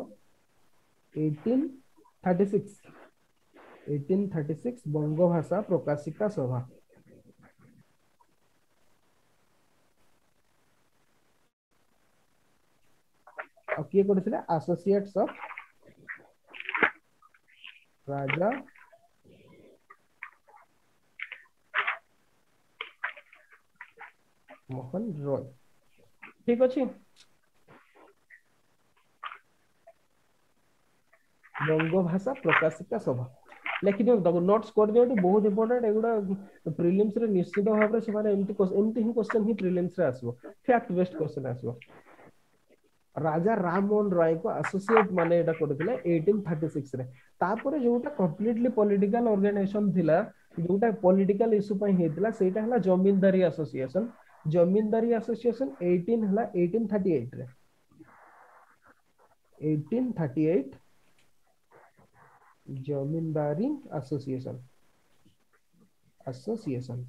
1836 1836 Bangabhasha Prakashika Sabha. ଆଉ କିଏ କରିଥିଲେ? Associates of Raja Mohan Roy. ଠିକ ଅଛି, ବଙ୍ଗଭାଷା ପ୍ରକାଶିକା ସଭା ଲେଖିଦିଅନ୍ତୁ, ତାକୁ ନୋଟ୍ସ କରିଦିଅନ୍ତୁ, ବହୁତ ଇମ୍ପୋର୍ଟାଣ୍ଟ। ଏଗୁଡା ପ୍ରିଲିମ୍ସ ରେ ନିଶ୍ଚିତ ଭାବରେ ସେମାନେ ଏମିତି ଏମିତି ହିଁ କ୍ୱେଶ୍ଚନ ହିଁ ପ୍ରିଲିମ୍ସ ରେ ଆସିବ, ଫ୍ୟାକ୍ଟ ବେସ୍ଡ କ୍ୱେଶ୍ଚନ ଆସିବ। ରାଜା ରାମମୋହନ ରାୟଙ୍କ ଆସୋସିଏଟ ମାନେ ଏଇଟା କରିଥିଲେ 1836 ରେ। ତାପରେ ଯୋଉଟା କମ୍ପ୍ଲିଟଲି ପଲିଟିକାଲ ଅର୍ଗାନାଇଜେସନ ଥିଲା, ଯୋଉଟା ପଲିଟିକାଲ ଇସ୍ୟୁ ପାଇଁ ହେଇଥିଲା, ସେଇଟା ହେଲା ଜମିନଦାରୀ ଆସୋସିଏସନ। ଜମିନଦାରୀ ଆସୋସିଏସନ 18 ହେଲା 1838 ରେ, 1838 ଜମିନଦାରୀ ଆସୋସିଏସନ ଆସୋସିଏସନ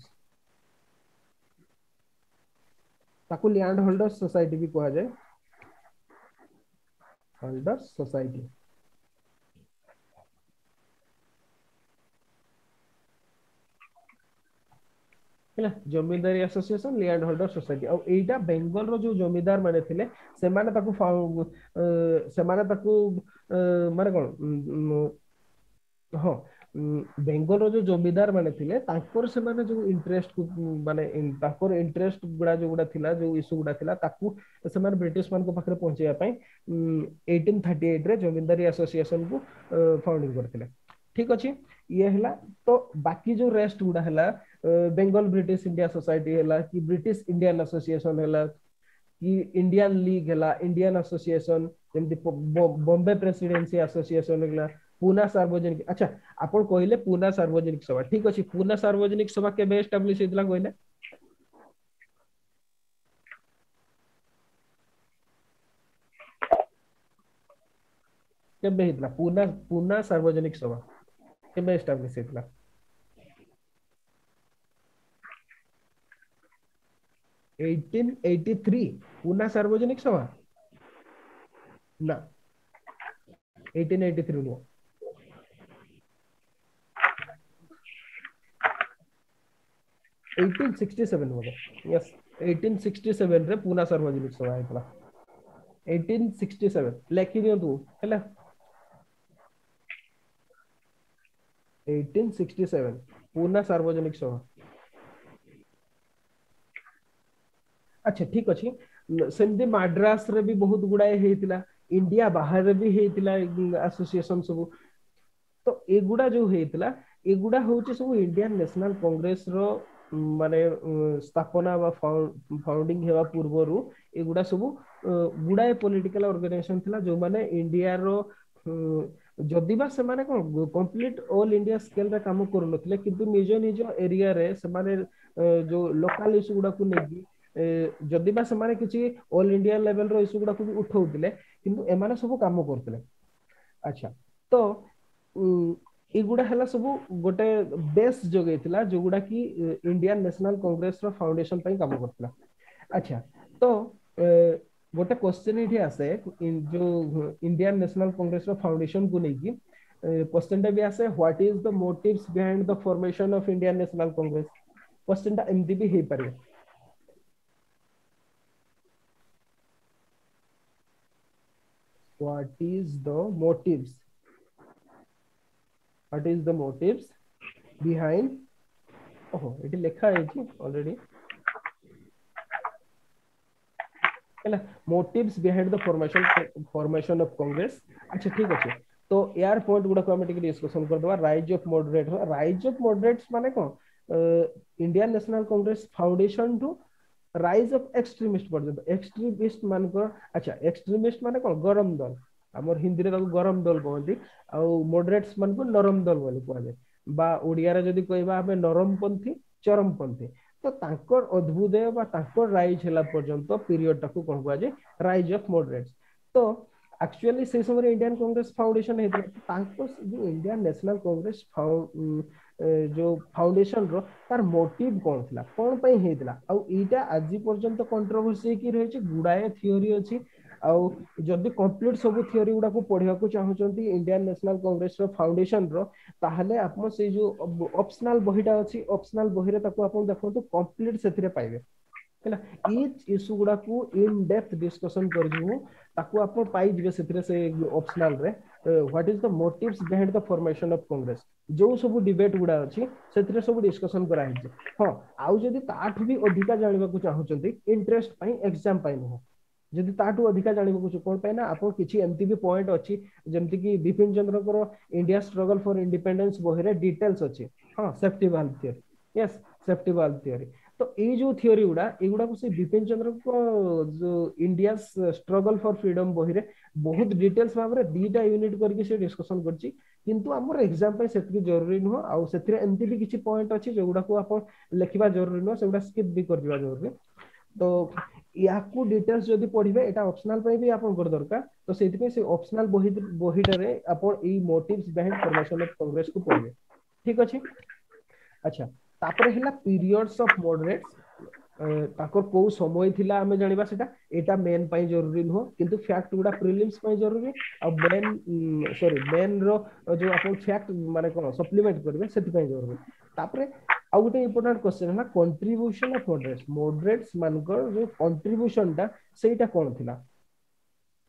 ତାକୁ ଲ୍ୟାଣ୍ଡ ହୋଲ୍ଡର ସୋସାଇଟି ବି କୁହାଯାଏ, ହୋଲ୍ଡର ସୋସାଇଟି। ହେଲା zamindari association, land holder society. ଆଉ ଏଇଟା ବେଙ୍ଗଲର ଯୋଉ ଜମିଦାର ମାନେ ଥିଲେ, ସେମାନେ ତାକୁ ସେମାନେ ତାକୁ ମାନେ କଣ, ହଁ, ବେଙ୍ଗଲର ଯୋଉ ଜମିଦାର ମାନେ ଥିଲେ ତାଙ୍କର ସେମାନେ ଯୋଉ ଇଣ୍ଟରେଷ୍ଟ ମାନେ ତାଙ୍କର ଇଣ୍ଟରେଷ୍ଟ ଗୁଡା ଯୋଉଗୁଡା ଥିଲା, ଯୋଉ ଇସ୍ୟୁ ଗୁଡା ଥିଲା, ତାକୁ ସେମାନେ ବ୍ରିଟିଶ ମାନଙ୍କ ପାଖରେ ପହଞ୍ଚେଇବା ପାଇଁ 1838 ରେ ଜମିଦାରୀ ଆସୋସିଏସନ କୁ ଫାଉଣ୍ଡିଂ କରିଥିଲେ। ଠିକ ଅଛି, ଇଏ ହେଲା। ତ ବାକି ଯୋଉ ରେଷ୍ଟ ଗୁଡା ହେଲା, ବେଙ୍ଗଲ ବ୍ରିଟିଶ ଇଣ୍ଡିଆ ସୋସାଇଟି ହେଲା କି ବ୍ରିଟିଶ ଇଣ୍ଡିଆନ ଆସୋସିଏସନ ହେଲା କି ଇଣ୍ଡିଆନ ଲିଗ ହେଲା, ଇଣ୍ଡିଆନ ଆସୋସିଏସନ, ଯେମିତି ବମ୍ବେ ପ୍ରେସିଡେନ୍ସି ଆସୋସିଏସନ ହେଲା, ପୁନା ସାର୍ବଜନିକ। ଆଚ୍ଛା, ଆପଣ କହିଲେ ପୁନା ସାର୍ବଜନିକ ସଭା, ଠିକ ଅଛି। ପୁନା ସାର୍ବଜନିକ ସଭା କେବେ ଏଷ୍ଟାବ୍ଲିଶ ହେଇଥିଲା କହିଲେ? କେବେ ହେଇଥିଲା ପୁନା ପୁନା ସାର୍ବଜନିକ ସଭା କେବେ ଏଷ୍ଟାବ୍ଲିଶ ହେଇଥିଲା? 1883 ପୁନା ସାର୍ବଜନିକ ସଭା ନା, 1883 ନୁହଁ, 1867 ବୋଧେ। ୟେସ୍, 1867 ରେ ପୁନା ସାର୍ବଜନିକ ସଭା ହେଇଥିଲା। 1867 ଲେଖି ଦିଅନ୍ତୁ ହେଲା, 1867 ପୁନା ସାର୍ବଜନିକ ସଭା। ଆଚ୍ଛା, ଠିକ ଅଛି। ସେମିତି ମାଡ୍ରାସରେ ବି ବହୁତ ଗୁଡାଏ ହେଇଥିଲା, ଇଣ୍ଡିଆ ବାହାରେ ବି ହେଇଥିଲା ଆସୋସିଏସନ ସବୁ। ତ ଏଗୁଡା ଯୋଉ ହେଇଥିଲା, ଏଗୁଡା ହଉଛି ସବୁ ଇଣ୍ଡିଆନ ନ୍ୟାସନାଲ କଂଗ୍ରେସ ର ମାନେ ସ୍ଥାପନା ବା ଫାଉଣ୍ଡିଂ ହେବା ପୂର୍ବରୁ ଏଗୁଡା ସବୁ ଗୁଡାଏ ପଲିଟିକାଲ ଅର୍ଗାନାଇଜେସନ ଥିଲା, ଯୋଉମାନେ ଇଣ୍ଡିଆର ଯଦି ବା ସେମାନେ କଣ କମ୍ପ୍ଲିଟ ଅଲ ଇଣ୍ଡିଆ ସ୍କେଲରେ କାମ କରୁନଥିଲେ, କିନ୍ତୁ ନିଜ ନିଜ ଏରିଆରେ ସେମାନେ ଯୋଉ ଲୋକାଲ ଇସ୍ୟୁ ଗୁଡାକୁ ନେଇକି ଯଦି ବା ସେମାନେ କିଛି ଅଲ ଇଣ୍ଡିଆ ଲେଭେଲର ଇସ୍ୟୁ ଗୁଡାକୁ ବି ଉଠଉଥିଲେ, କିନ୍ତୁ ଏମାନେ ସବୁ କାମ କରୁଥିଲେ। ଆଚ୍ଛା, ତ ଏଗୁଡା ହେଲା ସବୁ ଗୋଟେ ବେସ୍ ଯୋଗେଇଥିଲା, ଯୋଉଗୁଡା କି ଇଣ୍ଡିଆନ ନ୍ୟାସନାଲ କଂଗ୍ରେସ ର ଫାଉଣ୍ଡେସନ ପାଇଁ କାମ କରୁଥିଲା। ଆଚ୍ଛା, ତ ଗୋଟେ କ୍ୱେଶ୍ଚନ ଏଇଠି ଆସେ, ଯୋଉ ଇଣ୍ଡିଆନ ନ୍ୟାସନାଲ କଂଗ୍ରେସ ର ଫାଉଣ୍ଡେସନ କୁ ନେଇକି କ୍ୱେଶ୍ଚନ ଟା ବି ଆସେ, what is the motives behind the formation of Indian National Congress? Question ଟା ଏମିତି ବି ହେଇପାରିବ। What is the motives? What is the motives behind? ଓହୋ, ଏଠି ଲେଖା ହେଇଛି ଅଲରେଡି ହେଲା, motives behind the formation of Congress। ଆଚ୍ଛା, ଠିକ ଅଛି। ତ ଏୟାର ପଏଣ୍ଟ ଗୁଡାକୁ ଆମେ ଟିକେ ଡିସ୍କସନ କରିଦବା। Rise of moderate, rise of moderates ମାନେ କଣ? ଇଣ୍ଡିଆନ ନ୍ୟାସନାଲ କଂଗ୍ରେସ ଫାଉଣ୍ଡେସନ ଠୁ ରାଇଜ ଅଫ ଏକ୍ସଟ୍ରିମିଷ୍ଟ ପର୍ଯ୍ୟନ୍ତ, ଏକ୍ସଟ୍ରିମିଷ୍ଟ ମାନଙ୍କର। ଆଚ୍ଛା, ଏକ୍ସଟ୍ରିମିଷ୍ଟ ମାନେ କଣ? ଗରମ ଦଲ, ଆମର ହିନ୍ଦୀରେ ତାକୁ ଗରମ ଦଲ କହନ୍ତି, ଆଉ ମଡରେଟ୍ସ ମାନଙ୍କୁ ନରମ ଦଲ ବୋଲି କୁହାଯାଏ, ବା ଓଡିଆରେ ଯଦି କହିବା ଆମେ ନରମପନ୍ଥୀ, ଚରମପନ୍ଥୀ। ତ ତାଙ୍କର ଅଦ୍ଭୁଦୟ ବା ତାଙ୍କର ରାଇଜ ହେଲା ପର୍ଯ୍ୟନ୍ତ ପିରିୟଡ ଟାକୁ କଣ କୁହାଯାଏ? ରାଇଜ ଅଫ ମଡରେଟ୍ସ। ତ ଆକ୍ଚୁଆଲି ସେଇ ସମୟରେ ଇଣ୍ଡିଆନ କଂଗ୍ରେସ ଫାଉଣ୍ଡେସନ ହେଇଥିଲା। ତାଙ୍କ ଯୋଉ ଇଣ୍ଡିଆନ ନ୍ୟାସନାଲ କଂଗ୍ରେସ ଯୋଉ ଫାଉଣ୍ଡେସନ ର ତାର ମୋଟିଭ କଣ ଥିଲା, କଣ ପାଇଁ ହେଇଥିଲା, ଆଉ ଏଇଟା ଆଜି ପର୍ଯ୍ୟନ୍ତ କଣ୍ଟ୍ରୋଭର୍ସି ହେଇକି ରହିଛି। ଗୁଡାଏ ଥିଓରି ଅଛି। ଆଉ ଯଦି କମ୍ପ୍ଲିଟ ସବୁ ଥିଓରି ଗୁଡାକୁ ପଢିବାକୁ ଚାହୁଁଛନ୍ତି ଇଣ୍ଡିଆନ ନ୍ୟାସନାଲ କଂଗ୍ରେସ ର ଫାଉଣ୍ଡେସନ ର, ତାହେଲେ ଆପଣ ସେଇ ଯୋଉ ଅପସନାଲ ବହିଟା ଅଛି, ଅପସନାଲ ବହିରେ ତାକୁ ଆପଣ ଦେଖନ୍ତୁ, କମ୍ପ୍ଲିଟ ସେଥିରେ ପାଇବେ। ହେଲା, ଇଚ୍ ଇସ୍ୟୁ ଗୁଡାକୁ ଇନ ଡେପ୍ଥ ଡିସ୍କସନ କରିଛି ମୁଁ, ତାକୁ ଆପଣ ପାଇଯିବେ ସେଥିରେ, ସେ ଅପସନାଲ ରେ। What is the motives behind the formation of Congress, ଯୋଉ ସବୁ ଡିବେଟ ଗୁଡା ଅଛି ସେଥିରେ ସବୁ ଡିସ୍କସନ କରାହେଇଛି। ହଁ, ଆଉ ଯଦି ତାଠୁ ବି ଅଧିକା ଜାଣିବାକୁ ଚାହୁଁଛନ୍ତି, ଇଣ୍ଟରେଷ୍ଟ ପାଇଁ, ଏକ୍ସାମ ପାଇଁ ନୁହଁ, ଯଦି ତାଠୁ ଅଧିକା ଜାଣିବାକୁ, କଣ ପାଇଁ ନା ଆପଣ କିଛି ଏମିତି ବି ପଏଣ୍ଟ ଅଛି, ଯେମିତି କି ବିପିନ ଚନ୍ଦ୍ରଙ୍କର ଇଣ୍ଡିଆ ଷ୍ଟ୍ରଗଲ ଫର ଇଣ୍ଡିପେଣ୍ଡେନ୍ସ ବହିରେ ଡିଟେଲ୍ସ ଅଛି। ହଁ, safety valve theory, yes, safety valve theory. ତ ଏଇ ଯୋଉ ଥିଓରି ଗୁଡା, ଏଇଗୁଡାକୁ ସେ ବିପିନ ଚନ୍ଦ୍ରଙ୍କ ଯୋଉ ଇଣ୍ଡିଆ ଷ୍ଟ୍ରଗଲ ଫର ଫ୍ରିଡମ ବହିରେ ବହୁତ ଡିଟେଲ୍ସ ଭାବରେ ଦିଟା ୟୁନିଟ କରିକି ସେ ଡିସ୍କସନ କରିଛି। କିନ୍ତୁ ଆମର ଏକ୍ସାମ ପାଇଁ ସେତିକି ଜରୁରୀ ନୁହଁ। ଆଉ ସେଥିରେ ଏମିତି ବି କିଛି ପଏଣ୍ଟ ଅଛି ଯୋଉଗୁଡାକୁ ଆପଣ ଲେଖିବା ଜରୁରୀ ନୁହଁ, ସେଗୁଡା ସ୍କିପ୍ ବି କରିଯିବା ଜରୁରୀ। ତ ୟାକୁ ଡିଟେଲ୍ସ ଯଦି ପଢିବେ, ଏଇଟା ଅପସନାଲ ପାଇଁ ବି ଆପଣଙ୍କର ଦରକାର। ତ ସେଇଥିପାଇଁ ସେ ଅପସନାଲ ବହିଟାରେ ଆପଣ ଏଇ ମୋଟିଭ୍ସ ବିହାଇଣ୍ଡ ଫର୍ମେସନ ଅଫ କଂଗ୍ରେସ କୁ ପଢିବେ। ଠିକ ଅଛି। ଆଚ୍ଛା, ତାପରେ ହେଲା ପିରିୟଡ୍ସ ଅଫ ମଡରେଟ୍ସ। ତାଙ୍କର କୋଉ ସମୟ ଥିଲା ଆମେ ଜାଣିବା ସେଟା, ଏଇଟା ମେନ୍ ପାଇଁ ଜରୁରୀ ନୁହଁ, କିନ୍ତୁ ଫ୍ୟାକ୍ଟ ଗୁଡା ପ୍ରିଲିମ୍ସ ପାଇଁ ଜରୁରୀ। ଆଉ ମେନ୍, ସରି, ମେନ୍ ର ଯୋଉ ଆପଣ ଫ୍ୟାକ୍ଟ ମାନେ କଣ ସପ୍ଲିମେଣ୍ଟ କରିବେ, ସେଥିପାଇଁ ଜରୁରୀ। ତାପରେ ଆଉ ଗୋଟେ ଇମ୍ପୋର୍ଟାଣ୍ଟ କ୍ୱେଶ୍ଚନ ହେଲା କଣ୍ଟ୍ରିବ୍ୟୁସନ ଅଫ ମଡରେଟ୍ସ। ମଡରେଟ୍ସ ମାନଙ୍କର ଯୋଉ କଣ୍ଟ୍ରିବ୍ୟୁସନ ଟା ସେଇଟା କଣ ଥିଲା,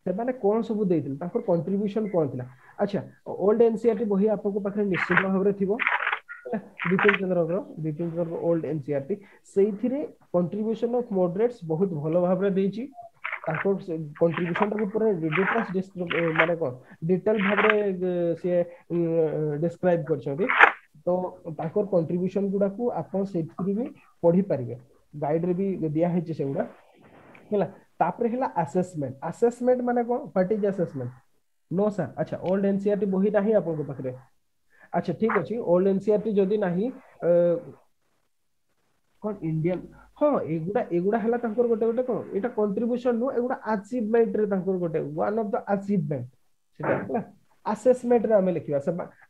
ସେମାନେ କଣ ସବୁ ଦେଇଥିଲେ, ତାଙ୍କର କଣ୍ଟ୍ରିବ୍ୟୁସନ କଣ ଥିଲା। ଆଚ୍ଛା, ଓଲ୍ଡ ଏନସିଆରଟି ବହି ଆପଣଙ୍କ ପାଖରେ ନିଶ୍ଚିତ ଭାବରେ ଥିବ, ହେଲା, ବିପିନ ଚନ୍ଦ୍ରଙ୍କର ଓଲ୍ଡ ଏନସିଆରଟି, ସେଇଥିରେ କଣ୍ଟ୍ରିବ୍ୟୁସନ ଅଫ ମଡରେଟ୍ସ ବହୁତ ଭଲ ଭାବରେ ଦେଇଛି। ତାଙ୍କ କଣ୍ଟ୍ରିବ୍ୟୁସନ ଟାକୁ ପୁରା ଡିଟେଲ୍ସ, ମାନେ କଣ ଡିଟେଲ ଭାବରେ ସିଏ ଡେସ୍କ୍ରାଇବ କରିଛନ୍ତି। ତ ତାଙ୍କର କଣ୍ଟ୍ରିବ୍ୟୁସନ ଗୁଡାକୁ ଆପଣ ସେଇଥିରୁ ବି ପଢିପାରିବେ, ଗାଇଡ ରେ ବି ଦିଆ ହେଇଛି ସେଗୁଡା। ହେଲା, ତାପରେ ହେଲା ଆସେସମେଣ୍ଟ। ଆସେସମେଣ୍ଟ ମାନେ କଣ? What is assessment? No sir. ଆଚ୍ଛା, ଓଲ୍ଡ ଏନସିଆରଟି ବହି ନାହିଁ ଆପଣଙ୍କ ପାଖରେ? ଆଚ୍ଛା, ଠିକ ଅଛି। ଓଲ୍ଡ ଏନସିଆରଟି ଯଦି ନାହିଁ, କଣ ଇଣ୍ଡିଆନ, ହଁ, ଏଗୁଡା ହେଲା ତାଙ୍କର ଗୋଟେ ଗୋଟେ କଣ, ଏଇଟା କଣ୍ଟ୍ରିବ୍ୟୁସନ ନୁହଁ, ଏଗୁଡା ଆଚିଭମେଣ୍ଟ ରେ ତାଙ୍କର ଗୋଟେ ୱାନ୍ ଅଫ the achievement ସେଟା ହେଲା। ଆସେସମେଣ୍ଟ ରେ ଆମେ ଲେଖିବା।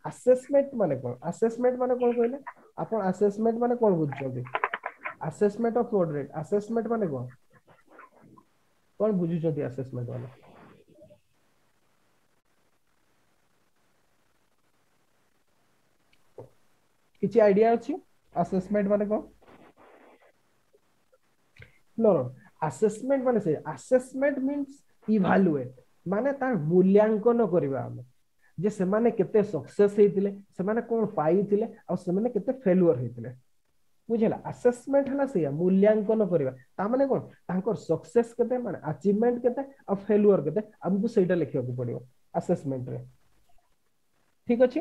ଆସେସମେଣ୍ଟ ମାନେ କଣ? ଆସେସମେଣ୍ଟ ମାନେ କଣ କହିଲେ ଆପଣ? ଆସେସମେଣ୍ଟ ମାନେ କଣ ବୁଝୁଛନ୍ତି? ଆସେସମେଣ୍ଟ ଅଫ ମଡରେଟ, ଆସେସମେଣ୍ଟ ମାନେ କଣ କଣ ବୁଝୁଛନ୍ତି ଆସେସମେଣ୍ଟ ମାନେ? କିଛି ଆଇଡିଆ ଅଛି ଆସେସମେଣ୍ଟ ମାନେ କଣ? ନୋ, ଆସେସମେଣ୍ଟ ମାନେ ସେ ଆସେସମେଣ୍ଟ ମିନ୍ସ ଇଭାଲୁଏଟ, ମାନେ ତାର ମୂଲ୍ୟାଙ୍କନ କରିବା ଆମେ, ଯେ ସେମାନେ କେତେ ସକ୍ସେସ ହେଇଥିଲେ, ସେମାନେ କଣ ପାଇଥିଲେ, ଆଉ ସେମାନେ କେତେ ଫେଲୁଅର ହେଇଥିଲେ। ବୁଝିଲା? ଆସେସମେଣ୍ଟ ହେଲା ସେଇଆ, ମୂଲ୍ୟାଙ୍କନ କରିବା। ତା ମାନେ କଣ, ତାଙ୍କର ସକ୍ସେସ କେତେ, ମାନେ ଆଚିଭମେଣ୍ଟ କେତେ, ଆଉ ଫେଲୁଅର କେତେ, ଆମକୁ ସେଇଟା ଲେଖିବାକୁ ପଡିବ ଆସେସମେଣ୍ଟରେ। ଠିକ ଅଛି।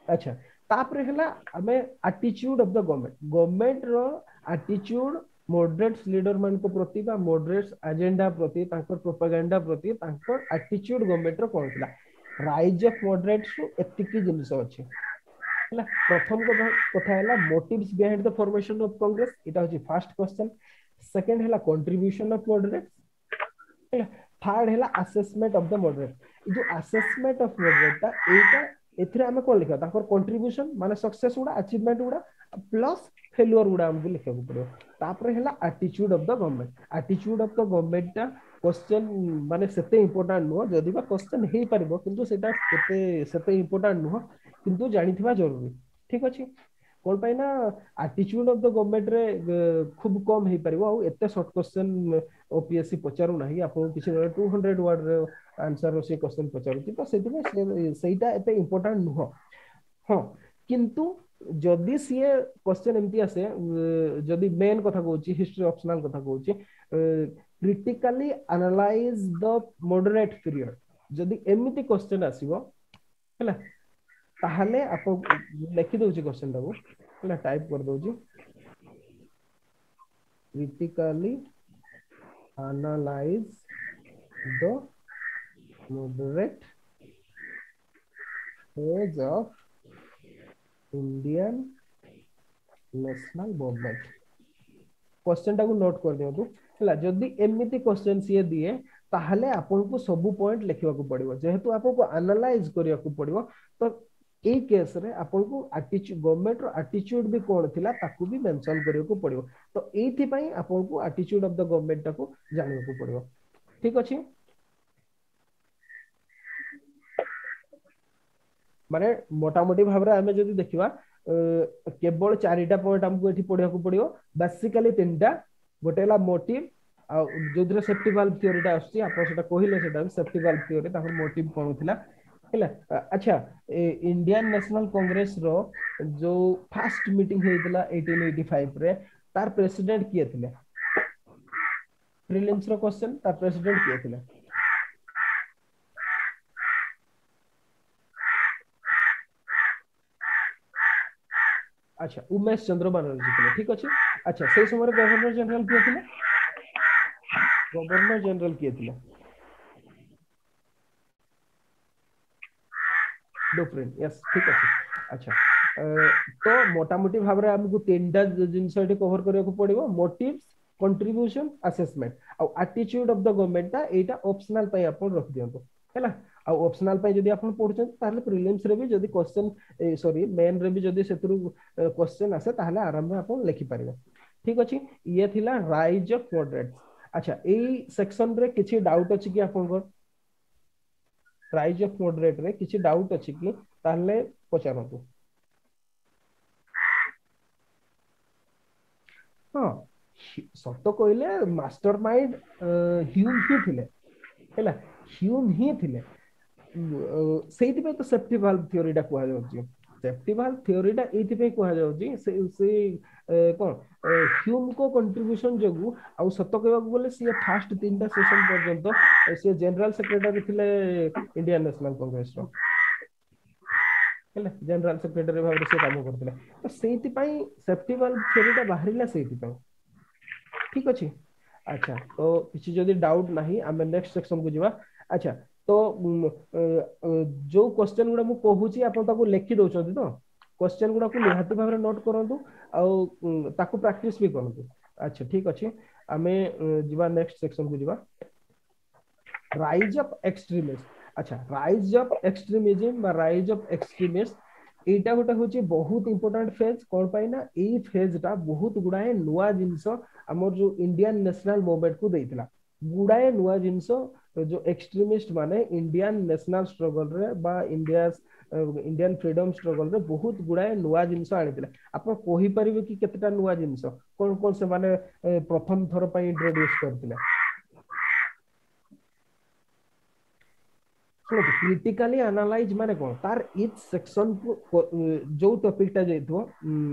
ଆଚ୍ଛା, ତାପରେ ହେଲା ଆମେ ଆଟିଚ୍ୟୁଡ ଅଫ the government. Government ର ଆଟିଚ୍ୟୁଡ ମଡରେଟ୍ସ ଲିଡର ମାନଙ୍କ ପ୍ରତି ବା ମଡରେଟ୍ସ ଏଜେଣ୍ଡା ପ୍ରତି, ତାଙ୍କର ପ୍ରୋପାଗାଣ୍ଡା ପ୍ରତି ତାଙ୍କର ଆଟିଚ୍ୟୁଡ ଗଭର୍ଣ୍ଣମେଣ୍ଟ ର କଣ ଥିଲା। ରାଇଜ ଅଫ ମଡରେଟ୍ସ ରୁ ଏତିକି ଜିନିଷ ଅଛି। ହେଲା, ପ୍ରଥମ କଥା ହେଲା motives behind the formation of Congress, ଏଇଟା ହଉଛି ଫାର୍ଷ୍ଟ କ୍ୱେଶ୍ଚନ। ସେକେଣ୍ଡ ହେଲା କଣ୍ଟ୍ରିବ୍ୟୁସନ ଅଫ ମଡରେଟ୍ସ, ହେଲା। ଥାର୍ଡ ହେଲା ଆସେସମେଣ୍ଟ ଅଫ the ମଡରେଟ୍। ଏଇ ଯୋଉ ଆସେସମେଣ୍ଟ ଅଫ ମଡରେଟ୍ ଟା, ଏଇଟା ଏଥିରେ ଆମେ କଣ ଲେଖିବା? ତାଙ୍କର କଣ୍ଟ୍ରିବ୍ୟୁସନ ମାନେ ସକ୍ସେସ ଗୁଡା, ଆଚିଭମେଣ୍ଟ ଗୁଡା, ପ୍ଲସ ଫେଲୁଅର ଗୁଡା ଆମକୁ ଲେଖିବାକୁ ପଡିବ। ତାପରେ ହେଲା attitude of the government. Attitude of the government ଟା କ୍ୱେଶ୍ଚନ ମାନେ ସେତେ ଇମ୍ପୋର୍ଟାଣ୍ଟ ନୁହଁ, ଯଦି ବା କ୍ୱେଶ୍ଚନ ହେଇପାରିବ, କିନ୍ତୁ ସେଇଟା ଏତେ ସେତେ ଇମ୍ପୋର୍ଟାଣ୍ଟ ନୁହଁ, କିନ୍ତୁ ଜାଣିଥିବା ଜରୁରୀ। ଠିକ ଅଛି। କଣ ପାଇଁ ନା ଆଟିଚ୍ୟୁଡ ଅଫ the government ରେ ଖୁବ କମ ହେଇପାରିବ, ଆଉ ଏତେ ସର୍ଟ କ୍ୱେଶ୍ଚନ ଓପିଏସସି ପଚାରୁ ନାହିଁ ଆପଣଙ୍କୁ। କିଛି 200 ୱାର୍ଡ ର ଆନ୍ସର ସେ କ୍ୱେଶ୍ଚନ ପଚାରୁଛି। ତ ସେଥିପାଇଁ ସେଇଟା ଏତେ ଇମ୍ପୋର୍ଟାଣ୍ଟ ନୁହଁ। ହଁ, କିନ୍ତୁ ଯଦି ସିଏ କ୍ୱେଶ୍ଚନ ଏମିତି ଆସେ, ଯଦି ମେନ୍ କଥା କହୁଛି, ହିଷ୍ଟ୍ରି ଅପସନାଲ କଥା କହୁଛି, critically analyze the moderate period, ଯଦି ଏମିତି କ୍ୱେଶ୍ଚନ ଆସିବ ହେଲା, ତାହେଲେ ଆପଣ ଲେଖି ଦଉଛି କ୍ୱେଶ୍ଚନ ଟାକୁ, ହେଲା, ଟାଇପ କରିଦଉଛି, critically analyze the moderate phase of Indian National Movement। Question ଟାକୁ ନୋଟ କରିଦିଅନ୍ତୁ। ହେଲା, ଯଦି ଏମିତି କ୍ୱେଶ୍ଚନ ସିଏ ଦିଏ, ତାହେଲେ ଆପଣଙ୍କୁ ସବୁ ପଏଣ୍ଟ ଲେଖିବାକୁ ପଡିବ, ଯେହେତୁ ଆପଣଙ୍କୁ ଆନାଲାଇଜ କରିବାକୁ ପଡିବ। ତ ଏଇ କେସରେ ଆପଣଙ୍କୁ ଗଭର୍ଣ୍ଣମେଣ୍ଟ ର ଆଟିଚ୍ୟୁଡ ବି କଣ ଥିଲା ତାକୁ ବି ମେନସନ କରିବାକୁ ପଡିବ। ତ ଏଇଥିପାଇଁ ଆପଣଙ୍କୁ ଆଟିଚ୍ୟୁଡ ଅଫ the government ଟାକୁ ଜାଣିବାକୁ ପଡିବ। ଠିକ ଅଛି। ମାନେ ମୋଟାମୋଟି ଭାବରେ ଆମେ ଯଦି ଦେଖିବା, କେବଳ 4ଟା ପଏଣ୍ଟ ଆମକୁ ଏଠି ପଢିବାକୁ ପଡିବ, ବେସିକାଲି 3ଟା। ଗୋଟେ ହେଲା ମୋଟିଭ, ଆଉ ଯୋଉଥିରେ ସେଫ୍ଟି ଭାଲ୍ଭ ଥିଓରିଟା ଆସୁଛି, ଆପଣ ସେଟା କହିଲେ, ସେଟା ସେଫ୍ଟି ଭାଲ୍ଭ ଥିଓରି, ତାଙ୍କର ମୋଟିଭ କଣ ଥିଲା, ହେଲା। ଆଚ୍ଛା, ଇଣ୍ଡିଆନ ନ୍ୟାସନାଲ କଂଗ୍ରେସ ର ଯୋଉ ଫାଷ୍ଟ ମିଟିଂ ହେଇଥିଲା 1885 ରେ, ତାର ପ୍ରେସିଡେଣ୍ଟ କିଏ ଥିଲେ? ପ୍ରିଲିମ୍ସ ର କ୍ୱେଶ୍ଚନ, ତାର ପ୍ରେସିଡେଣ୍ଟ କିଏ ଥିଲେ? ଆଚ୍ଛା, ଉମେଶ ଚନ୍ଦ୍ର ବାନାର୍ଜୀ ଥିଲେ, ଠିକ ଅଛି। ଆଚ୍ଛା, ସେଇ ସମୟରେ ଗଭର୍ଣ୍ଣର ଜେନେରାଲ କିଏ ଥିଲେ? ଗଭର୍ଣ୍ଣର ଜେନେରାଲ କିଏ ଥିଲେ? ଡୁଫରିନ, ୟେସ୍, ଠିକ ଅଛି। ଆଚ୍ଛା, ତ ମୋଟାମୋଟି ଭାବରେ ଆମକୁ 3ଟା ଜିନିଷ ଏଠି କଭର କରିବାକୁ ପଡିବ, ମୋଟିଭ୍ସ, କଣ୍ଟ୍ରିବ୍ୟୁସନ, ଆସେସମେଣ୍ଟ, ଆଉ ଆଟିଚ୍ୟୁଡ ଅଫ the government ଟା ଏଇଟା ଅପସନାଲ ପାଇଁ ଆପଣ ରଖିଦିଅନ୍ତୁ, ହେଲା। ଆଉ ଅପସନାଲ ପାଇଁ ଯଦି ଆପଣ ପଢୁଛନ୍ତି, ତାହେଲେ ପ୍ରିଲିମ୍ସ ରେ ବି ଯଦି କ୍ୱେଶ୍ଚନ, ସରି, ମେନ୍ ରେ ବି ଯଦି ସେଥିରୁ କ୍ୱେଶ୍ଚନ ଆସେ, ତାହେଲେ ଆରାମରେ ଆପଣ ଲେଖିପାରିବେ, ଠିକ ଅଛି। ଇଏ ଥିଲା ରାଇଜ ଅଫ ମଡରେଟ୍ସ। ଆଚ୍ଛା, ଏଇ ସେକ୍ସନ ରେ କିଛି ଡାଉଟ ଅଛି କି ଆପଣଙ୍କର? ରାଇଜ ଅଫ ମଡରେଟ ରେ କିଛି ଡାଉଟ ଅଛି କି? ତାହେଲେ ପଚାରନ୍ତୁ। ହଁ, ସତ କହିଲେ ମାଷ୍ଟର ମାଇଣ୍ଡ ହ୍ୟୁମ ହିଁ ଥିଲେ, ହେଲା, ହ୍ୟୁମ ହିଁ ଥିଲେ। ସେଇଥିପାଇଁ ତ ସେଫ୍ଟି ଭାଲ୍ଭ ଥିଓରିଟା କୁହାଯାଉଛି। ସେଫ୍ଟି ଭାଲ୍ଭ ଥିଓରିଟା ଏଇଥିପାଇଁ କୁହାଯାଉଛି, ସେ କଣ ହ୍ୟୁମଙ୍କ କଣ୍ଟ୍ରିବ୍ୟୁସନ ଯୋଗୁ। ଆଉ ସତ କହିବାକୁ ଗଲେ ସିଏ ଫାଷ୍ଟ 3ଟା ସେସନ ପର୍ଯ୍ୟନ୍ତ ସିଏ ଜେନେରାଲ ସେକ୍ରେଟାରୀ ଥିଲେ ଇଣ୍ଡିଆନ ନ୍ୟାସନାଲ କଂଗ୍ରେସର, ହେଲା, ଜେନେରାଲ ସେକ୍ରେଟାରୀ ଭାବରେ ସେ କାମ କରୁଥିଲେ। ତ ସେଇଥିପାଇଁ ସେଫ୍ଟି ଭାଲ୍ଭ ଥିଓରିଟା ବାହାରିଲା ସେଇଥିପାଇଁ, ଠିକ ଅଛି। ଆଚ୍ଛା, ତ କିଛି ଯଦି ଡାଉଟ ନାହିଁ ଆମେ ନେକ୍ସଟ ସେକ୍ସନ କୁ ଯିବା। ଆଚ୍ଛା, ତ ଯୋଉ କ୍ୱେଶ୍ଚନ ଗୁଡା ମୁଁ କହୁଛି ଆପଣ ତାକୁ ଲେଖି ଦଉଛନ୍ତି ତ? କ୍ୱେଶ୍ଚନ ଗୁଡାକୁ ନିହାତି ଭାବରେ ନୋଟ କରନ୍ତୁ ଆଉ ତାକୁ ପ୍ରାକ୍ଟିସ ବି କରନ୍ତୁ। ଆଚ୍ଛା, ଠିକ ଅଛି, ଆମେ ଯିବା ନେକ୍ସଟ ସେକ୍ସନ କୁ ଯିବା, ରାଇଜ ଅଫ ଏକ୍ସଟ୍ରିମିଷ୍ଟ। ଆଚ୍ଛା, ରାଇଜ ଅଫ ଏକ୍ସଟ୍ରିମିଜମ ବା ରାଇଜ ଅଫ ଏକ୍ସଟ୍ରିମିଷ୍ଟ ଏଇଟା ଗୋଟେ ହଉଛି ବହୁତ ଇମ୍ପୋର୍ଟାଣ୍ଟ ଫେଜ। କଣ ପାଇଁ ନା ଏଇ ଫେଜ ଟା ବହୁତ ଗୁଡାଏ ନୂଆ ଜିନିଷ ଆମର ଯୋଉ ଇଣ୍ଡିଆନ ନ୍ୟାସନାଲ ମୁଭମେଣ୍ଟ କୁ ଦେଇଥିଲା। ଗୁଡାଏ ନୂଆ ଜିନିଷ ଯୋଉ ଏକ୍ସଟ୍ରିମିଷ୍ଟ ମାନେ ଇଣ୍ଡିଆନ ନ୍ୟାସନାଲ ଷ୍ଟ୍ରଗଲ ରେ ବା ଇଣ୍ଡିଆନ ଫ୍ରିଡମ ଷ୍ଟ୍ରଗଲ ରେ ବହୁତ ଗୁଡାଏ ନୂଆ ଜିନିଷ ଆଣିଥିଲେ। ଆପଣ କହିପାରିବେ କି କେତେଟା ନୂଆ ଜିନିଷ କଣ କଣ ସେମାନେ ପ୍ରଥମ ଥର ପାଇଁ ଇଣ୍ଟ୍ରୋଡ୍ୟୁସ କରିଥିଲେ? ଶୁଣନ୍ତୁ, କ୍ରିଟିକାଲି ଆନାଲାଇଜ ମାନେ କଣ, ତାର ଇଚ୍ ସେକ୍ସନ କୁ ଯୋଉ ଟପିକ ଟା ଯାଇଥିବ,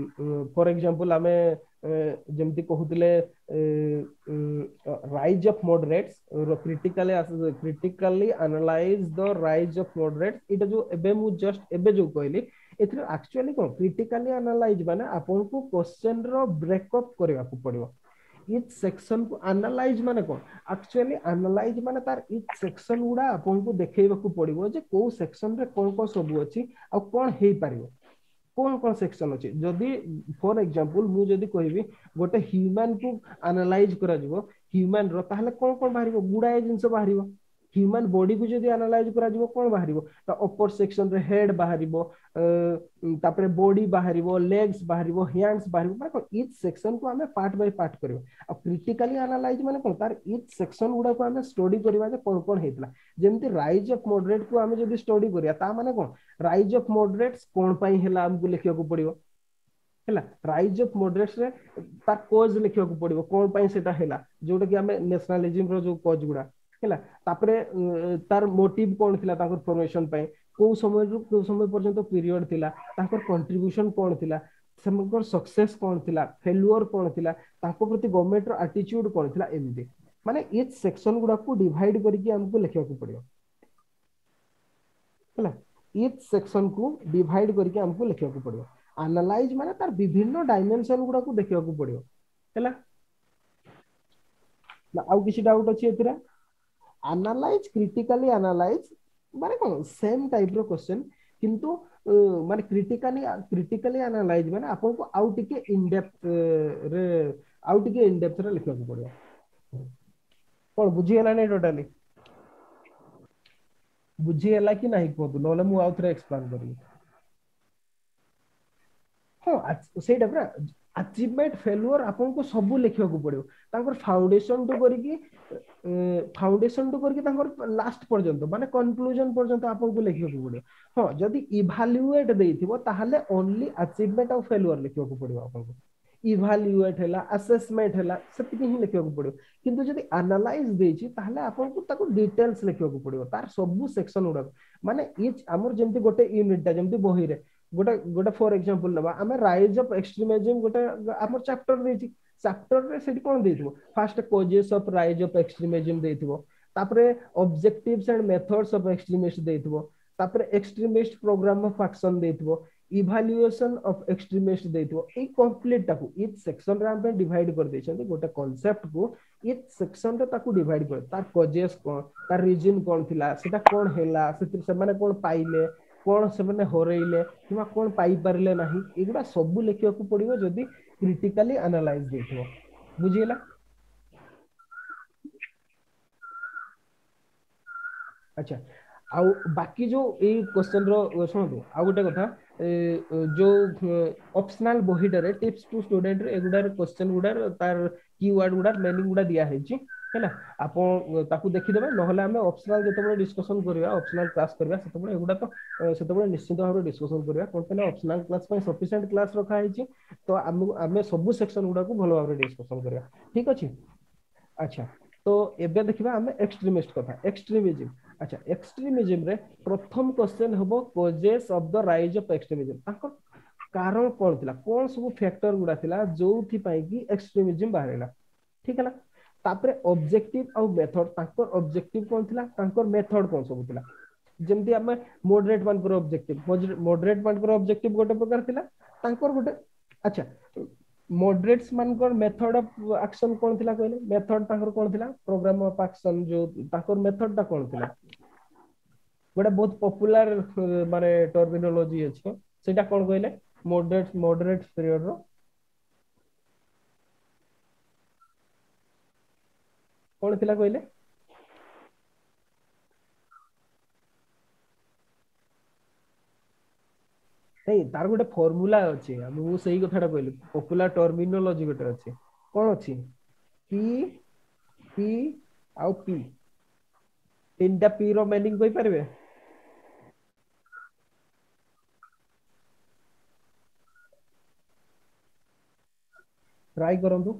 ଫର ଏକ୍ସାମ୍ପଲ ଆମେ ଯେମିତି କହୁଥିଲେ rise of moderates, critically analyse the rise of moderates, ଏଇଟା ଯୋଉ ଏବେ ମୁଁ ଜଷ୍ଟ ଏବେ ଯୋଉ କହିଲି, ଏଥିରେ ଆକ୍ଚୁଆଲି କଣ କ୍ରିଟିକାଲି ଆନାଲାଇଜ ମାନେ ଆପଣଙ୍କୁ କ୍ୱେଶ୍ଚନ ର ବ୍ରେକଅପ୍ କରିବାକୁ ପଡିବ। ଇଚ୍ ସେକ୍ସନ କୁ ଆନାଲାଇଜ ମାନେ କଣ, ଆକ୍ଚୁଆଲି ଆନାଲାଇଜ ମାନେ ତାର ଇଚ୍ ସେକ୍ସନ ଗୁଡା ଆପଣଙ୍କୁ ଦେଖେଇବାକୁ ପଡିବ ଯେ କୋଉ ସେକ୍ସନ ରେ କଣ କଣ ସବୁ ଅଛି ଆଉ କଣ ହେଇପାରିବ, କଣ କଣ ସେକ୍ସନ ଅଛି। ଯଦି ଫର ଏକ୍ସାମ୍ପଲ ମୁଁ ଯଦି କହିବି ଗୋଟେ ହ୍ୟୁମାନ କୁ ଆନାଲାଇଜ କରାଯିବ ହ୍ୟୁମାନ ର, ତାହେଲେ କଣ କଣ ବାହାରିବ? ଗୁଡାଏ ଜିନିଷ ବାହାରିବ। ହ୍ୟୁମାନ ବଡି କୁ ଯଦି ଆନାଲାଇଜ କରାଯିବ କଣ ବାହାରିବ? ତା ଅପର ସେକ୍ସନ ରେ ହେଡ ବାହାରିବ, ତାପରେ ବଡି ବାହାରିବ, ଲେଗ୍ସ ବାହାରିବ, ହ୍ୟାଣ୍ଡସ ବାହାରିବ। ମାନେ କଣ ଇଚ୍ ସେକ୍ସନ କୁ ଆମେ ପାର୍ଟ ବାଇ ପାର୍ଟ କରିବା। ଆଉ କ୍ରିଟିକାଲି ଆନାଲାଇଜ ମାନେ କଣ, ତାର ଇଚ୍ ସେକ୍ସନ ଗୁଡାକୁ ଆମେ ଷ୍ଟଡି କରିବା ଯେ କଣ କଣ ହେଇଥିଲା। ଯେମିତି ରାଇଜ ଅଫ ମଡରେଟ କୁ ଆମେ ଯଦି ଷ୍ଟଡି କରିବା, ତା ମାନେ କଣ ରାଇଜ ଅଫ ମଡରେଟ୍ସ କଣ ପାଇଁ ହେଲା ଆମକୁ ଲେଖିବାକୁ ପଡିବ, ହେଲା। ରାଇଜ ଅଫ ମଡରେଟ୍ସ ରେ ତାର କଜ ଲେଖିବାକୁ ପଡିବ, କଣ ପାଇଁ ସେଟା ହେଲା, ଯୋଉଟା କି ଆମେ ନ୍ୟାସନାଲିଜିମ ର ଯୋଉ କଜ ଗୁଡା ହେଲା। ତାପରେ ତାର ମୋଟିଭ କଣ ଥିଲା ତାଙ୍କର ଫର୍ମେସନ ପାଇଁ, କୋଉ ସମୟରୁ କୋଉ ସମୟ ପର୍ଯ୍ୟନ୍ତ ପିରିୟଡ ଥିଲା, ତାଙ୍କର କଣ୍ଟ୍ରିବ୍ୟୁସନ କଣ ଥିଲା, ସେମାନଙ୍କର ସକ୍ସେସ କଣ ଥିଲା, ଫେଲୁଅର କଣ ଥିଲା, ତାଙ୍କ ପ୍ରତି ଗଭର୍ଣ୍ଣମେଣ୍ଟ ର ଆଟିଚ୍ୟୁଡ କଣ ଥିଲା, ଏମିତି ମାନେ ଇଚ୍ ସେକ୍ସନ ଗୁଡାକୁ ଡିଭାଇଡ କରିକି ଆମକୁ ଲେଖିବାକୁ ପଡିବ, ହେଲା। ଇଚ୍ ସେକ୍ସନ କୁ ଡିଭାଇଡ କରିକି ଆମକୁ ଲେଖିବାକୁ ପଡିବ। ଆନାଲାଇଜ ମାନେ ତାର ବିଭିନ୍ନ ଡାଇମେନସନ ଗୁଡାକୁ ଦେଖିବାକୁ ପଡିବ, ହେଲା। ନା ଆଉ କିଛି ଡାଉଟ ଅଛି ଏଥିରେ? ଆନାଲାଇଜ, କ୍ରିଟିକାଲି ଆନାଲାଇଜ ମାନେ କଣ ସେମ ଟାଇପ ର କ୍ୱେଶ୍ଚନ, କିନ୍ତୁ ମାନେ କ୍ରିଟିକାଲି ଆନାଲାଇଜ ମାନେ ଆପଣଙ୍କୁ ଆଉ ଟିକେ ଇନଡେପ୍ଥ ରେ, ଆଉ ଟିକେ ଇନଡେପ୍ଥ ରେ ଲେଖିବାକୁ ପଡିବ। କଣ ବୁଝିହେଲାନି ଟୋଟାଲି? ବୁଝିହେଲା କି ନାହିଁ କୁହନ୍ତୁ, ନହେଲେ ମୁଁ ଆଉ ଥରେ ଏକ୍ସପ୍ଲେନ କରିବି। ହଁ, ସେଇଟା ପୁରା ଆଚିଭମେଣ୍ଟ ଫେଲୁଅର ଆପଣଙ୍କୁ ସବୁ ଲେଖିବାକୁ ପଡିବ। ତାଙ୍କର ଫାଉଣ୍ଡେସନ ଠୁ କରିକି, ଫାଉଣ୍ଡେସନ ଠୁ କରିକି ତାଙ୍କର ଲାଷ୍ଟ ପର୍ଯ୍ୟନ୍ତ, ମାନେ କନକ୍ଲୁଜନ ପର୍ଯ୍ୟନ୍ତ ଆପଣଙ୍କୁ ଲେଖିବାକୁ ପଡିବ। ହଁ, ଯଦି ଇଭାଲୁଏଟ ଦେଇଥିବ ତାହେଲେ ଓନ୍ଲି ଆଚିଭମେଣ୍ଟ ଆଉ ଫେଲୁଅର ଲେଖିବାକୁ ପଡିବ ଆପଣଙ୍କୁ। ଇଭାଲୁଏଟ ହେଲା, ଆସେସମେଣ୍ଟ ହେଲା, ସେତିକି ହିଁ ଲେଖିବାକୁ ପଡିବ। କିନ୍ତୁ ଯଦି ଆନାଲାଇଜ ଦେଇଛି ତାହେଲେ ଆପଣଙ୍କୁ ତାକୁ ଡିଟେଲ୍ସ ଲେଖିବାକୁ ପଡିବ, ତାର ସବୁ ସେକ୍ସନ ଗୁଡାକ। ମାନେ ଇଚ୍ ଆମର ଯେମିତି ଗୋଟେ ୟୁନିଟ ଟା ଯେମିତି ବହିରେ ଗୋଟେ ଗୋଟେ ଫର ଏକ୍ସାମ୍ପଲ ନେବା ଆମେ, ରାଇଜ ଅଫ ଏକ୍ସଟ୍ରିମିଜମ ଗୋଟେ ଆମର ଚାପ୍ଟର ଦେଇଛି। ଚାପ୍ଟରରେ ସେଠି କଣ ଦେଇଥିବ? First causes of rise of extremism ଦେଇଥିବ, ତାପରେ objectives and methods of extremist ଦେଇଥିବ, ତାପରେ ଏକ୍ସଟ୍ରିମିଷ୍ଟ ପ୍ରୋଗ୍ରାମ ଅଫ ଆକ୍ସନ ଦେଇଥିବ, ଇଭାଲୁଏସନ ଅଫ ଏକ୍ସଟ୍ରିମିଷ୍ଟ ଦେଇଥିବ। ଏଇ କମ୍ପ୍ଲିଟ ଟାକୁ ଇଚ୍ ସେକ୍ସନ ରେ ଆମେ ଡିଭାଇଡ କରିଦେଇଛନ୍ତି। ଗୋଟେ କନସେପ୍ଟ କୁ ଇଚ୍ ସେକ୍ସନ ରେ ତାକୁ ଡିଭାଇଡ କରି, ତାର କଜେସ୍ କଣ, ତାର ରିଜନ କଣ ଥିଲା, ସେଟା କଣ ହେଲା, ସେଥିରେ ସେମାନେ କଣ ପାଇଲେ, କଣ ସେମାନେ ହରେଇଲେ କିମ୍ବା କଣ ପାଇପାରିଲେ ନାହିଁ, ଏଗୁଡା ସବୁ ଲେଖିବାକୁ ପଡିବ ଯଦି କ୍ରିଟିକାଲି ଆନାଲାଇଜ ଦେଇଥିବ। ବୁଝିହେଲା? ଆଚ୍ଛା, ଆଉ ବାକି ଯୋଉ ଏଇ କ୍ୱେଶ୍ଚନ ର ଶୁଣନ୍ତୁ, ଆଉ ଗୋଟେ କଥା, ଯୋଉ ଅପସନାଲ ବହିଟାରେ ଟିପ୍ସ ଟୁ ଷ୍ଟୁଡେଣ୍ଟ ଏଗୁଡାର କ୍ୱେଶ୍ଚନ ଗୁଡାର ତାର କି ୱାର୍ଡ ଗୁଡା ମିନିଂ ଗୁଡା ଦିଆ ହେଇଛି, ହେଲା, ଆପଣ ତାକୁ ଦେଖିଦେବେ। ନହେଲେ ଆମେ ଅପସନାଲ ଯେତେବେଳେ ଡିସ୍କସନ କରିବା, ଅପସନାଲ କ୍ଲାସ କରିବା, ସେତେବେଳେ ଏଗୁଡା ତ ସେତେବେଳେ ନିଶ୍ଚିତ ଭାବରେ ଡିସ୍କସନ କରିବା। କଣ ପାଇଁ ନା ଅପସନାଲ କ୍ଲାସ ପାଇଁ ସଫିସିଏଣ୍ଟ କ୍ଲାସ ରଖା ହେଇଛି, ତ ଆମେ ସବୁ ସେକ୍ସନ ଗୁଡାକୁ ଭଲ ଭାବରେ ଡିସ୍କସନ କରିବା। ଠିକ ଅଛି? ଆଚ୍ଛା, ତ ଏବେ ଦେଖିବା ଆମେ ଏକ୍ସଟ୍ରିମିଷ୍ଟ କଥା, ଏକ୍ସଟ୍ରିମିଜିମ। ଆଚ୍ଛା, ଏକ୍ସଟ୍ରିମିଜିମ ରେ ପ୍ରଥମ କ୍ୱେଶ୍ଚନ ହବ causes of the rise of extremism. ତାଙ୍କ କାରଣ କଣ ଥିଲା, କଣ ସବୁ ଫ୍ୟାକ୍ଟର ଗୁଡା ଥିଲା ଯୋଉଥିପାଇଁ କି ଏକ୍ସଟ୍ରିମିଜିମ ବାହାରିଲା। ଠିକ ହେଲା? ତାପରେ ଅବଜେକ୍ଟିଭ ଆଉ ମେଥଡ, ତାଙ୍କର ଅବଜେକ୍ଟିଭ କଣ ଥିଲା, ତାଙ୍କର ମେଥଡ କଣ ସବୁ ଥିଲା। ଯେମିତି ଆମେ ମଡରେଟ ମାନଙ୍କର ଅବଜେକ୍ଟିଭ, ମଡରେଟ ମାନଙ୍କର ଅବଜେକ୍ଟିଭ ଗୋଟେ ପ୍ରକାର ଥିଲା, ତାଙ୍କର ଗୋଟେ। ଆଚ୍ଛା, ମଡରେଟ୍ସ ମାନଙ୍କର ମେଥଡ ଅଫ ଆକ୍ସନ କଣ ଥିଲା କହିଲେ? ମେଥଡ ତାଙ୍କର କଣ ଥିଲା, ପ୍ରୋଗ୍ରାମ ଅଫ ଆକ୍ସନ ଯୋଉ ତାଙ୍କର ମେଥଡ ଟା କଣ ଥିଲା? ଗୋଟେ ବହୁତ ପପୁଲାର ମାନେ ଟର୍ମିନୋଲୋଜି ଅଛି, ସେଇଟା କଣ କହିଲେ? ମଡରେଟ, ମଡରେଟ ପିରିୟଡ ର କଣ ଥିଲା କହିଲେ? ନାଇଁ, ତାର ଗୋଟେ ଫର୍ମୁଲା ଅଛି, ମୁଁ ସେଇ କଥାଟା କହିଲି, ପପୁଲାର ଟର୍ମିନୋଲୋଜି ଗୋଟେ ଅଛି। କଣ ଅଛି? ପି, ପି ଆଉ ପି, ତିନିଟା ପି ର ମିନିଂ କହିପାରିବେ? ଟ୍ରାଇ କରନ୍ତୁ।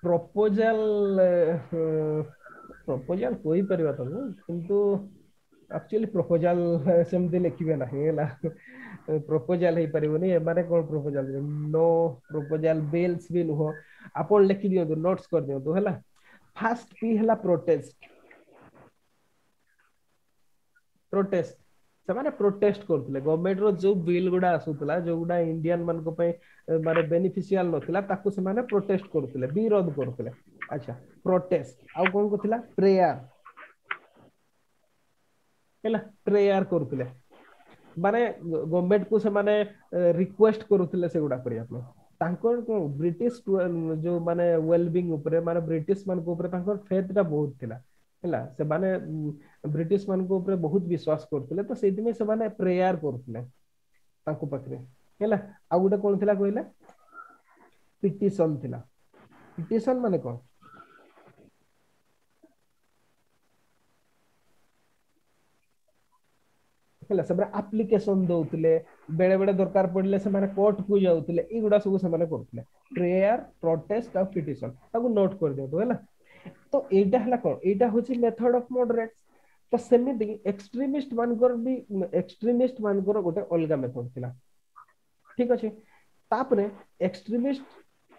ପ୍ରପୋଜାଲ, ପ୍ରପୋଜାଲ କହିପାରିବା ତାକୁ, କିନ୍ତୁ ଆକ୍ଚୁଆଲି ପ୍ରପୋଜାଲ ସେମିତି ଲେଖିବେ ନାହିଁ, ହେଲା, ପ୍ରପୋଜାଲ ହେଇପାରିବନି। ଏମାନେ କଣ ପ୍ରପୋଜାଲ, ନୋ ପ୍ରପୋଜାଲ, ବିଲ୍ସ ବି ନୁହଁ। ଆପଣ ଲେଖି ଦିଅନ୍ତୁ, ନୋଟ୍ସ କରିଦିଅନ୍ତୁ, ହେଲା। ଫାଷ୍ଟ ପି ହେଲା ପ୍ରୋଟେଷ୍ଟ, ପ୍ରୋଟେଷ୍ଟ, ସେମାନେ ପ୍ରୋଟେଷ୍ଟ କରୁଥିଲେ ଗଭର୍ଣ୍ଣମେଣ୍ଟ ର ଯୋଉ ବିଲ୍ ଗୁଡା ଆସୁଥିଲା, ଯୋଉଗୁଡା ଇଣ୍ଡିଆନ ମାନଙ୍କ ପାଇଁ ମାନେ ବେନିଫିସିଆଲ ନଥିଲା, ତାକୁ ସେମାନେ ପ୍ରୋଟେଷ୍ଟ କରୁଥିଲେ, ବିରୋଧ କରୁଥିଲେ। ଆଚ୍ଛା, ପ୍ରୋଟେଷ୍ଟ। ଆଉ କଣ କରୁଥିଲା? ପ୍ରେୟାର, ହେଲା, ପ୍ରେୟାର କରୁଥିଲେ, ମାନେ ଗଭର୍ଣ୍ଣମେଣ୍ଟ କୁ ସେମାନେ ରିକ୍ୱେଷ୍ଟ କରୁଥିଲେ ସେଗୁଡା କରିବା ପାଇଁ। ତାଙ୍କର କଣ ବ୍ରିଟିଶ ଯୋଉ ମାନେ ୱେଲବିଙ୍ଗ ଉପରେ, ମାନେ ବ୍ରିଟିଶ ମାନଙ୍କ ଉପରେ ତାଙ୍କର ଫେଥ ଟା ବହୁତ ଥିଲା, ହେଲା, ସେମାନେ ବ୍ରିଟିଶ ମାନଙ୍କ ଉପରେ ବହୁତ ବିଶ୍ୱାସ କରୁଥିଲେ, ତ ସେଇଥିପାଇଁ ସେମାନେ ପ୍ରେୟାର କରୁଥିଲେ ତାଙ୍କ ପାଖରେ, ହେଲା। ଆଉ ଗୋଟେ କଣ ଥିଲା କହିଲେ? ପିଟିସନ ଥିଲା। ପିଟିସନ ମାନେ କଣ? ହେଲା, ସେମାନେ ଆପ୍ଲିକେସନ ଦଉଥିଲେ, ବେଳେ ବେଳେ ଦରକାର ପଡିଲେ ସେମାନେ କୋର୍ଟ କୁ ଯାଉଥିଲେ, ଏଇଗୁଡା ସବୁ ସେମାନେ କରୁଥିଲେ। ପ୍ରେୟାର, ପ୍ରୋଟେଷ୍ଟ ଆଉ ପିଟିସନ, ତାକୁ ନୋଟ କରିଦିଅନ୍ତୁ, ହେଲା। ତ ଏଇଟା ହେଲା କଣ? ଏଇଟା ହଉଛି ମେଥଡ ଅଫ ମଡରେଟ। ତ ସେମିତି ଏକ୍ସଟ୍ରିମିଷ୍ଟ ମାନଙ୍କର ବି, ଏକ୍ସଟ୍ରିମିଷ୍ଟ ମାନଙ୍କର ଗୋଟେ ଅଲଗା ମେଥଡ ଥିଲା। ଠିକ ଅଛି? ତାପରେ ଏକ୍ସଟ୍ରିମିଷ୍ଟ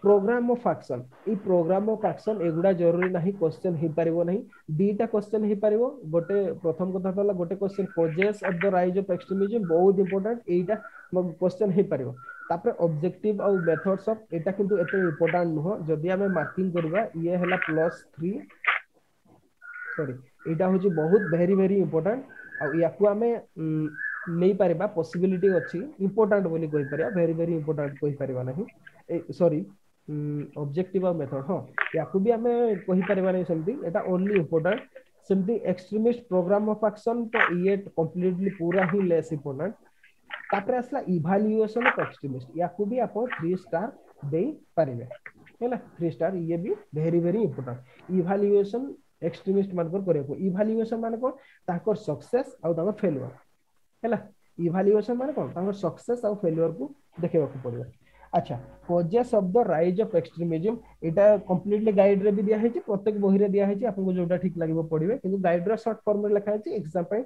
ପ୍ରୋଗ୍ରାମ ଅଫ ଆକ୍ସନ, ଏଇ ପ୍ରୋଗ୍ରାମ ଅଫ ଆକ୍ସନ ଏଗୁଡା ଜରୁରୀ ନାହିଁ, କ୍ୱେଶ୍ଚନ ହେଇପାରିବ ନାହିଁ। ଦିଟା କ୍ୱେଶ୍ଚନ ହେଇପାରିବ। ଗୋଟେ ପ୍ରଥମ କଥା ତ ହେଲା ଗୋଟେ question causes of the rise of extremism, ବହୁତ ଇମ୍ପୋର୍ଟାଣ୍ଟ, ଏଇଟା କ୍ୱେଶ୍ଚନ ହେଇପାରିବ। ତାପରେ ଅବଜେକ୍ଟିଭ ଆଉ ମେଥଡ୍ସ ଅଫ, ଏଇଟା କିନ୍ତୁ ଏତେ ଇମ୍ପୋର୍ଟାଣ୍ଟ ନୁହଁ। ଯଦି ଆମେ ମାର୍କିଂ କରିବା, ଇଏ ହେଲା +3, ସରି, ଏଇଟା ହଉଛି ବହୁତ ଭେରି ଭେରି ଇମ୍ପୋର୍ଟାଣ୍ଟ, ଆଉ ୟାକୁ ଆମେ ନେଇପାରିବା, ପସିବିଲିଟି ଅଛି, ଇମ୍ପୋର୍ଟାଣ୍ଟ ବୋଲି କହିପାରିବା, ଭେରି ଭେରି ଇମ୍ପୋର୍ଟାଣ୍ଟ କହିପାରିବା ନାହିଁ। ସରି, ଅବଜେକ୍ଟିଭ ଆଉ ମେଥଡ, ହଁ, ୟାକୁ ବି ଆମେ କହିପାରିବା ନାହିଁ ସେମିତି, ଏଟା ଓନ୍ଲି ଇମ୍ପୋର୍ଟାଣ୍ଟ। ସେମିତି ଏକ୍ସଟ୍ରିମିଷ୍ଟ ପ୍ରୋଗ୍ରାମ ଅଫ ଆକ୍ସନ ତ ଇଏ କମ୍ପ୍ଲିଟଲି ପୁରା ହିଁ ଲେସ୍ ଇମ୍ପୋର୍ଟାଣ୍ଟ। ତାପରେ ଆସିଲା ଇଭାଲୁଏସନ ଅଫ ଏକ୍ସଟ୍ରିମିଷ୍ଟ, ୟାକୁ ବି ଆପଣ 3 ଷ୍ଟାର ଦେଇପାରିବେ, ହେଲା 3 ଷ୍ଟାର, ଇଏ ବି ଭେରି ଭେରି ଇମ୍ପୋର୍ଟାଣ୍ଟ। ଇଭାଲୁଏସନ ଏକ୍ସଟ୍ରିମିଷ୍ଟ ମାନଙ୍କର କରିବାକୁ, ଇଭାଲୁଏସନ ମାନେ କଣ, ତାଙ୍କର ସକ୍ସେସ ଆଉ ତାଙ୍କର ଫେଲୁଅର, ହେଲା ଇଭାଲୁଏସନ ମାନେ କଣ, ତାଙ୍କର ସକ୍ସେସ ଆଉ ଫେଲୁଅର କୁ ଦେଖିବାକୁ ପଡିବ। ଆଚ୍ଛା, causes of the rise of extremism, ଏଇଟା କମ୍ପ୍ଲିଟଲି ଗାଇଡ ରେ ବି ଦିଆ ହେଇଛି, ପ୍ରତ୍ୟେକ ବହିରେ ଦିଆ ହେଇଛି, ଆପଣଙ୍କୁ ଯୋଉଟା ଠିକ ଲାଗିବ ପଢିବେ, କିନ୍ତୁ ଗାଇଡ ର ସର୍ଟ ଫର୍ମ ରେ ଲେଖା ହେଇଛି, ଏକ୍ସାମ ପାଇଁ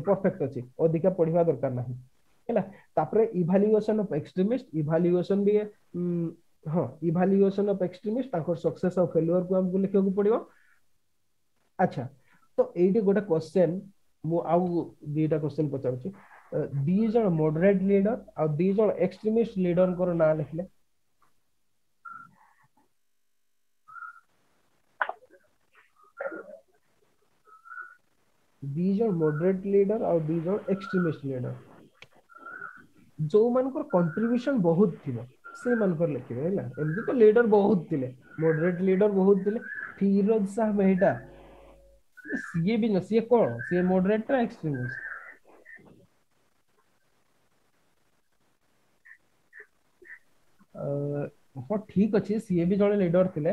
ପରଫେକ୍ଟ ଅଛି, ଅଧିକା ପଢିବା ଦରକାର ନାହିଁ, ହେଲା। ତାପରେ ଇଭାଲୁଏସନ ଅଫ ଏକ୍ସଟ୍ରିମିଷ୍ଟ, ଇଭାଲୁଏସନ ବି ହଁ ଇଭାଲୁଏସନ ଅଫ ଏକ୍ସଟ୍ରିମିଷ୍ଟ, ତାଙ୍କର ସକ୍ସେସ ଆଉ ଫେଲୁଅର କୁ ଆମକୁ ଲେଖିବାକୁ ପଡିବ। ଆଚ୍ଛା, ତ ଏଇଠି ଗୋଟେ କ୍ୱେଶ୍ଚନ, ମୁଁ ଆଉ ଦିଟା କ୍ୱେଶ୍ଚନ ପଚାରୁଛି। ଦି ଜଣ ମଡରେଟ ଲିଡର ଆଉ ଦି ଜଣ ଏକ୍ସଟ୍ରିମିଷ୍ଟ ଲିଡରଙ୍କର ନାଁ ଲେଖିଲେ। ଦି ଜଣ ମଡରେଟ ଲିଡର ଆଉ ଦି ଜଣ ଏକ୍ସଟ୍ରିମିଷ୍ଟ ଲିଡର, ଯୋଉମାନଙ୍କର କଣ୍ଟ୍ରିବ୍ୟୁସନ ବହୁତ ଥିବ ସେଇମାନଙ୍କର ଲେଖିବେ, ହେଲା। ଏମିତି ତ ଲିଡର ବହୁତ ଥିଲେ, ମଡରେଟ ଲିଡର ବହୁତ ଥିଲେ। ଫିରୋଜ ଶାହ ମେହଟା, ସିଏ ବି ସିଏ କଣ, ସିଏ ମଡରେଟ ନା ଏକ୍ସଟ୍ରିମିଷ୍ଟ? ହଁ ଠିକ ଅଛି, ସିଏ ବି ଜଣେ ଲିଡର ଥିଲେ।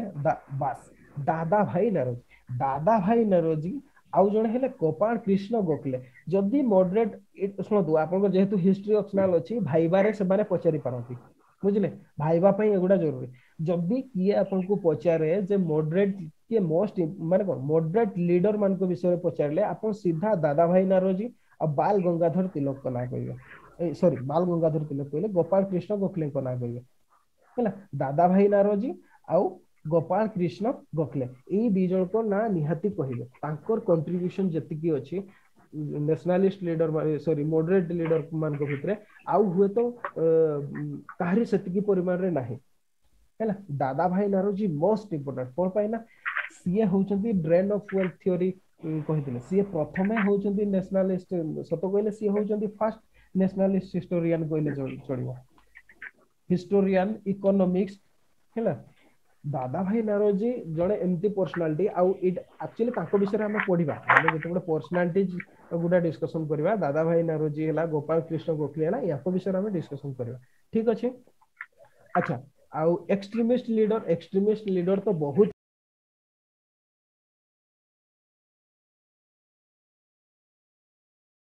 ବାସ୍, ଦାଦା ଭାଇ ନାରୋଜି, ଦାଦା ଭାଇ ନାରୋଜି ଆଉ ଜଣେ ହେଲେ ଗୋପାଳ କୃଷ୍ଣ ଗୋଖଲେ। ଯଦି ମଡରେଟ, ଶୁଣନ୍ତୁ ଆପଣଙ୍କ ଯେହେତୁ ହିଷ୍ଟ୍ରି ଅପସନାଲ ଅଛି, ଭାଇବାରେ ସେମାନେ ପଚାରି ପାରନ୍ତି, ବୁଝିଲେ, ଭାଇବା ପାଇଁ ଏଗୁଡା ଜରୁରୀ। ଯଦି କିଏ ଆପଣଙ୍କୁ ପଚାରେ ଯେ ମଡରେଟ କିଏ ମୋଷ୍ଟ, ମାନେ କଣ ମଡରେଟ ଲିଡର ମାନଙ୍କ ବିଷୟରେ ପଚାରିଲେ ଆପଣ ସିଧା ଦାଦା ଭାଇ ନାରୋଜି ଆଉ ବାଲ ଗଙ୍ଗାଧର ତିଲକଙ୍କ ନାଁ କହିବେ, ସରି ବାଲ ଗଙ୍ଗାଧର ତିଲକ କହିଲେ ଗୋପାଳ କୃଷ୍ଣ ଗୋଖଲେଙ୍କ ନାଁ କହିବେ, ହେଲା। ଦାଦା ଭାଇ ନାରୋଜି ଆଉ ଗୋପାଳ କୃଷ୍ଣ ଗୋଖଲେ, ଏଇ ଦି ଜଣଙ୍କ ନାଁ ନିହାତି କହିବେ। ତାଙ୍କର କଣ୍ଟ୍ରିବ୍ୟୁସନ ଯେତିକି ଅଛି ନ୍ୟାସନାଲିଷ୍ଟ ଲିଡର, ସରି ମଡରେଟ ଲିଡର ମାନଙ୍କ ଭିତରେ ଆଉ ହୁଏତ କାହାରି ସେତିକି ପରିମାଣରେ ନାହିଁ, ହେଲା। ଦାଦା ଭାଇ ନାରୋଜି ମୋଷ୍ଟ ଇମ୍ପୋର୍ଟାଣ୍ଟ, କଣ ପାଇଁ ନା ସିଏ ହଉଛନ୍ତି ଡ୍ରେନ୍ ଅଫ ୱେଲ୍ଥ ଥିଓରି କହିଥିଲେ, ସିଏ ପ୍ରଥମେ ହଉଛନ୍ତି ନ୍ୟାସନାଲିଷ୍ଟ, ସତ କହିଲେ ସିଏ ହଉଛନ୍ତି ଫାର୍ଷ୍ଟ ନ୍ୟାସନାଲିଷ୍ଟ ହିଷ୍ଟୋରିଆନ କହିଲେ ଚଳିବ, ହିଷ୍ଟୋରିଆନ, ଇକୋନୋମିକ୍ସ, ହେଲା। ଦାଦା ଭାଇ ନାରୋଜି ଜଣେ ଏମିତି ପର୍ସନାଲିଟି, ଆଉ ଏଇଟା ଆକ୍ଚୁଆଲି ତାଙ୍କ ବିଷୟରେ ଆମେ ପଢିବା, ଆମେ ଯେତେବେଳେ ପର୍ସନାଲିଟି ଗୁଡା ଡିସ୍କସନ କରିବା, ଦାଦା ଭାଇ ନାରୋଜି ହେଲା, ଗୋପାଳ କୃଷ୍ଣ ଗୋଖଲେ ହେଲା, ୟାଙ୍କ ବିଷୟରେ ଆମେ ଡିସ୍କସନ କରିବା, ଠିକ ଅଛି। ଆଚ୍ଛା, ଆଉ ଏକ୍ସଟ୍ରିମିଷ୍ଟ ଲିଡର, ଏକ୍ସଟ୍ରିମିଷ୍ଟ ଲିଡର ତ ବହୁତ